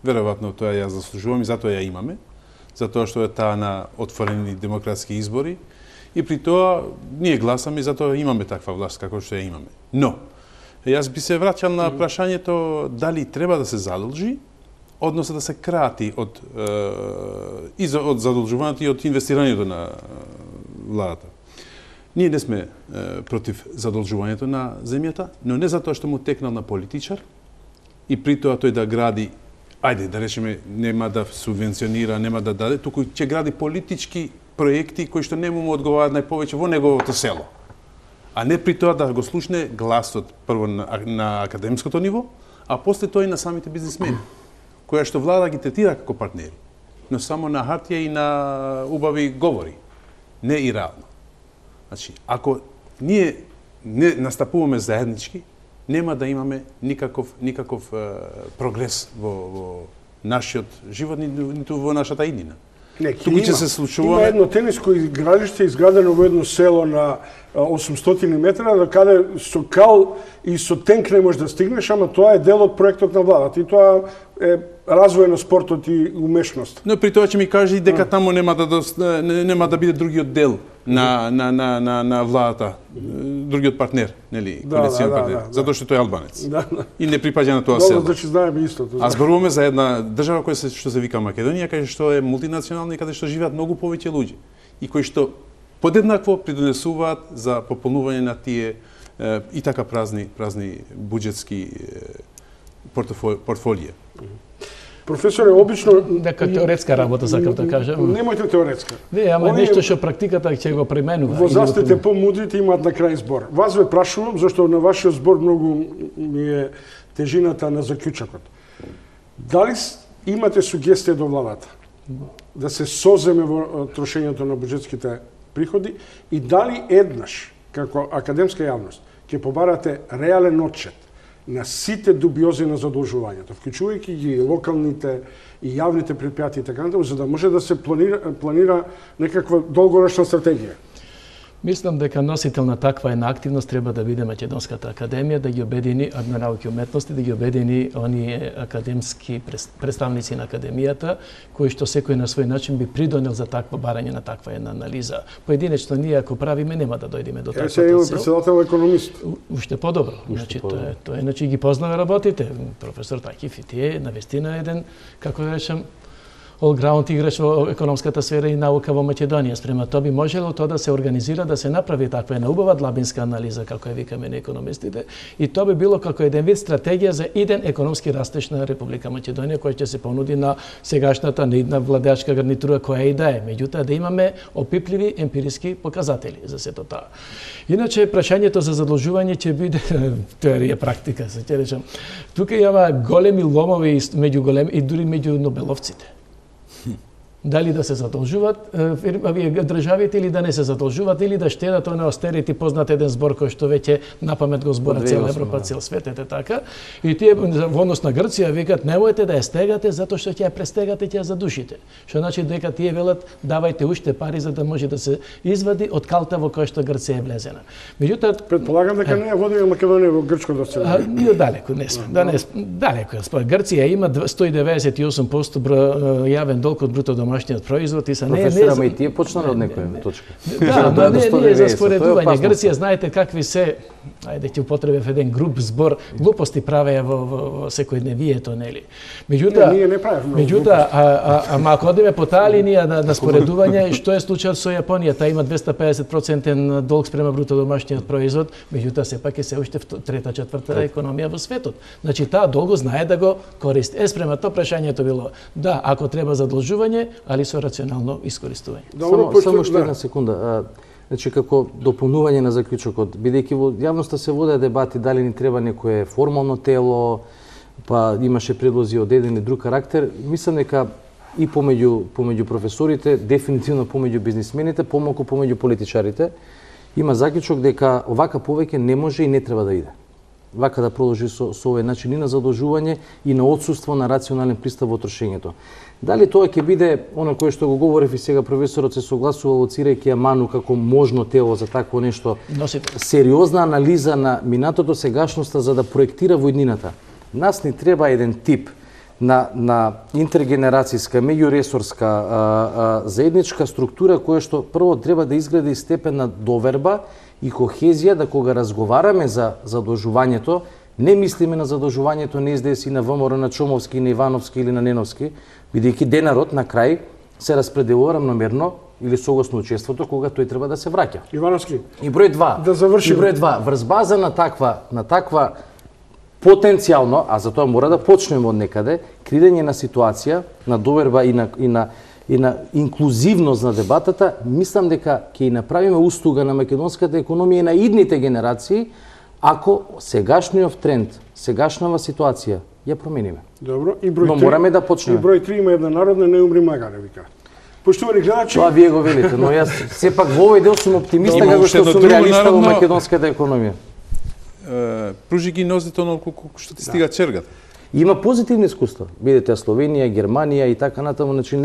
Веројатно тоа ја заслужуваме и затоа ја имаме, затоа што е таа на отворени демократски избори и при тоа ние гласаме и затоа имаме таква власт како што ја имаме. Но јас би се враќал на прашањето дали треба да се задолжи, односно да се крати од задолжувањето и од инвестирањето на владата. Ние не сме против задолжувањето на земјата, но не затоа што му текнал на политичар и при тоа тој да гради, ајде да речеме, нема да субвенционира, нема да даде, туку ќе гради политички проекти кои што не му одговараат најповеќе во неговото село. А не при тоа да го слушне гласот прво на академското ниво, а после тоа и на самите бизнисмени, која што влада ги третира како партнери, но само на хартија и на убави говори, не и реално. Значи, ако ние не настапуваме заеднички, нема да имаме никаков прогрес во нашиот живот, ниту во нашата иднина. Туку ќе се случува. Има едно тениско игралиште изградено во едно село на 800 метра, да каде со кал и со тенк не можеш да стигнеш, ама тоа е дел од проектот на владата и тоа е развој на спортот и умешност. Но при тоа ќе ми кажи дека таму нема да биде другиот дел на владата, другиот партнер, нели, коалицијен партнер, затоа што тој е албанец. И не припаѓа на тоа село. Добро, значи знаеме истото. А зборуваме за една држава што се вика Македонија, каде што е мултинационална и каде што живеат многу повеќе луѓе и кои што подеднакво придонесуваат за пополнување на тие и така празни буџетски портфолија. Професоре, обично дека теоретска работа сакам да кажам. Немојте теоретска. Не, ама нешто што практиката ќе го пременува. Возрастните помудрите имаат на крај збор. Вас ве прашувам зашто на вашиот збор многу ми е тежината на заклучокот. Дали имате сугестија до владата да се соземе во трошењето на буџетските приходи и дали еднаш како академска јавност ќе побарате реален отчет на сите дубиози на задолжувањето, вклучувајќи ги локалните и јавните предпријатија и така натаму, за да може да се планира некаква долгорочна стратегија. Мислам дека носител на таква една активност треба да биде Македонската академија, да ги обедини науки и уметности, да ги обедини оние академски представници на академијата, кои што секој на свој начин би придонел за такво барање на таква една анализа. Поединечно ние ако правиме нема да дојдеме до таква цел. Сега председател економист. Уште подобро. Значи тоа иначе ги познава работите. Професор Тајкив и тие навистина еден, како да речем, all-ground играч во економската сфера и наука во Македонија. Спрема тоа би можело тоа да се организира, да се направи таква една убава длабинска анализа, како ја викаме на економистите, и тоа би било како еден вид стратегија за иден економски растеж на Република Македонија, која ќе се понуди на сегашната неидна владеачка гарнитура која и да е. Меѓутоа да имаме опипливи емпириски показатели за сето тоа. Иначе прашањето за задолжување ќе биде теорија практика, се ќе речам. Тука има големи ломови меѓу големи и дури меѓу нобеловците. Дали да се задолжуваат државите или да не се задолжуваат или да штедат на остерити, познат еден збор кој што веќе напамет го збора цела Европа, цел свет, така. И тие во однос на Грција викаат немојте да ја стегате затоа што ќе ја престегате, ќе ја задушите. Што значи дека тие велат давајте уште пари за да може да се извади од калта во која што Грција е влезена. Меѓутоа предполагам дека не ја води Македонија во грчко доцелување. Ние далеку не сме. Далеку. Грција има 198% јавен долг од бруто домашниот производ и са не Професора, и тие почнале од некоја точка. Да, ама не е за споредување. Грција знаете какви се, ајде ќе употребев еден груб збор, глупости правеа во секојдневието, нели. Меѓутоа, ама ако одиме по таа линија на споредување, што е случајот со Јапонија? Таа има 250% долг спрема бруто домашниот производ, меѓутоа сепак е се уште трета, четврта економија во светот. Значи таа долго знае да го користи. Спрема тоа прашањето било да, ако треба задолжување, али со рационално искористување. Само што една секунда. Значи, како дополнување на заклучокот, бидејќи во јавноста се водеа дебати дали ни треба некое формално тело, па имаше предлози од еден или друг карактер, мислам дека и помеѓу професорите, дефинитивно помеѓу бизнисмените, помалку помеѓу политичарите, има заклучок дека овака повеќе не може и не треба да иде. вака да продолжи со овој начин и на задолжување и на отсуство на рационален пристап во трошењето. Дали тоа ќе биде оно кое што го говорев и сега професорот се согласува лоцирајќи ја ману како можно тело за такво нешто, сериозна анализа на минатото, сегашноста за да проектира во иднината. Нас ни треба еден тип на интергенерацијска, меѓуресорска, заедничка структура која што прво треба да изгради степен на доверба и кохезија, да кога разговараме за задолжувањето, не мислиме на задолжувањето на СДС и на ВМРО, на Чомовски, на Ивановски или на Неновски, бидејќи денарот на крај се распределува рамномерно или согласно учеството кога тој треба да се враќа. Ивановски. И број 2. Да завршим. И број 2. Врз база на таква потенцијално, а за тоа мора да почнеме од некаде, креирање на ситуација, на доверба и на инклузивност на дебатата, мислам дека ќе направиме устуга на македонската економија и на идните генерации, ако сегашниот тренд, сегашнава ситуација ја промениме. Добро, и број 3. Но мораме да почнеме. И број 3 има една народна не умри магаре, вика. Поштовани гледачи, Тоа вие го велите, но јас сепак во овој дел сум оптимиста како што сум реалиста во македонската економија. Пружи ги нозите онолку колку што ти стига чергата. Има позитивни искуства. Видите Словенија, Германија и така натаму, значи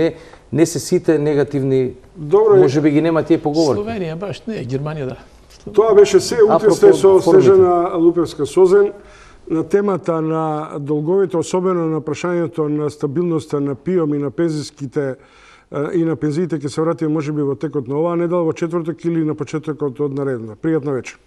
не се сите негативни. Добро, можеби ги нема тие поговорки. Словенија баш не, Германија да. Тоа беше се. Утре сте со Снежана Лупевска Созен на темата на долговите, особено на прашањето на стабилноста на ПИОМ и на пензиските и на пензиите ќе се вратиме можеби во текот на оваа недела, во четврток или на почетокот од наредна. Пријатна вечер.